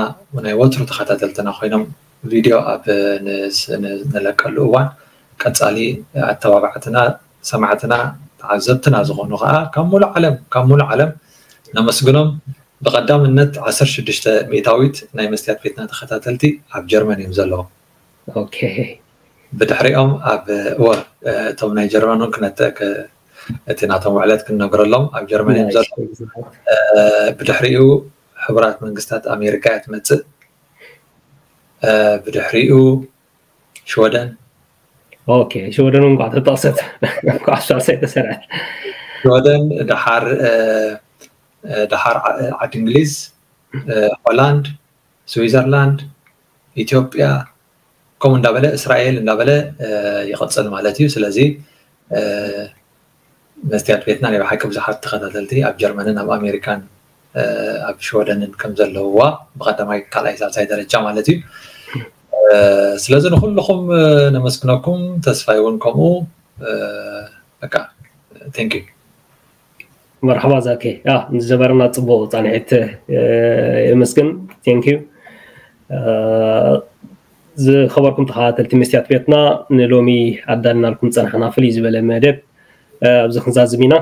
ናይ ወትሩ ተኸታተልትና ኮይኖም ቪድዮ ኣብ ንለቀሉ እዋን ቀፃሊ ኣተባባዕትና፣ ሰማዕትና፣ ተዓዘብትና ዝኾኑ ከዓ ካብ ሙሉእ ዓለም ካብ ሙሉእ ዓለም ነመስግኖም። ብቐዳምነት ዓሰርተ ሽዱሽተ ሚእታዊት ናይ መስትያት ቤትና ተኸታተልቲ ኣብ ጀርመን እዮም ዘለዉ። ብድሕሪኦም ኣብ ወር እቶም ናይ ጀርመን እውን ክነተ እቲ ናቶም ውዕለት ክንነግረሎም ኣብ ጀርመን እዮም ዘሎ። ብድሕሪኡ ሕቡራት መንግስታት ኣሜሪካ እያ ትመፅእ። ብድሕሪኡ ሽወደን። ሽወደን እንኳ ተጠቅሰት እንኳ ሳልሳይ ተሰርዐት። ሽወደን ድሓር ድሓር ዓዲ እንግሊዝ፣ ሆላንድ፣ ስዊዘርላንድ፣ ኢትዮጵያ ከምኡ እንዳበለ እስራኤል እንዳበለ ይቕፅል ማለት እዩ። ስለዚ መስትያት ቤትና ናይ ብሓቂ ብዙሓት ተኸታተልቲ ኣብ ጀርመንን ኣብ ኣሜሪካን ኣብ ሽወደንን ከም ዘለውዋ ብቀዳማይ ካልኣይ ሳልሳይ ደረጃ ማለት እዩ። ስለዚ ንኩልኹም ነመስግነኩም፣ ተስፋይ እውን ከምኡ። በቃ thank you። መርሓባ ዛኬ፣ ንዝነበረና ፅቡቅ ፃንሒት የመስግን። thank you። ዝኸበርኩም ተኸታተልቲ መስትያት ቤትና፣ ንሎሚ ኣዳልናልኩም ፀናሕና ፍልይ ዝበለ መደብ ኣብዚ ክንዛዝም ኢና።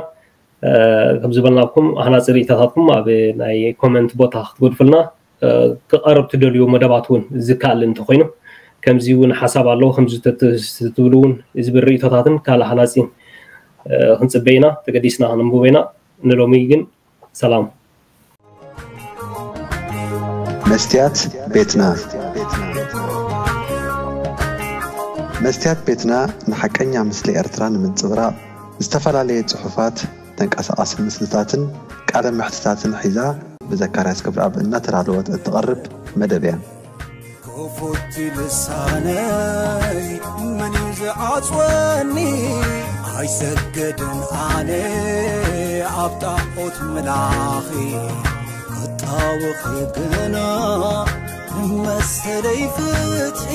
ከም ዝበልናኩም ሃናፂ ርእይቶታትኩም ኣብ ናይ ኮመንት ቦታ ክትገድፉልና፣ ክቐርብ ትደልዩ መደባት እውን ዝከኣል እንተኮይኑ፣ ከምዚ እውን ሓሳብ ኣለዎ ከምዚ ትብሉ እውን ዝብል ርእይቶታትን ካልእ ሃናፂን ክንፅበ ኢና። ተገዲስና ክነንብቦ ኢና። ንሎሚ ግን ሰላም። መስትያት ቤትና። መስትያት ቤትና ንሓቀኛ ምስሊ ኤርትራ ንምንጽብራቕ ዝተፈላለየ ጽሑፋት፣ ተንቀሳቓሲ ምስልታትን ቃለ መሕትታትን ሒዛ ብዘካርያስ ክብረኣብ እናተዳለወት እትቐርብ መደብ እያ። ክፉት ልሳነይ መን እዩ ዝዓጽወኒ? ኣይሰገድን ኣነ ኣብ ጣዖት ምላኺ ክጣወኺ ግና መሰለይ ፍትሒ።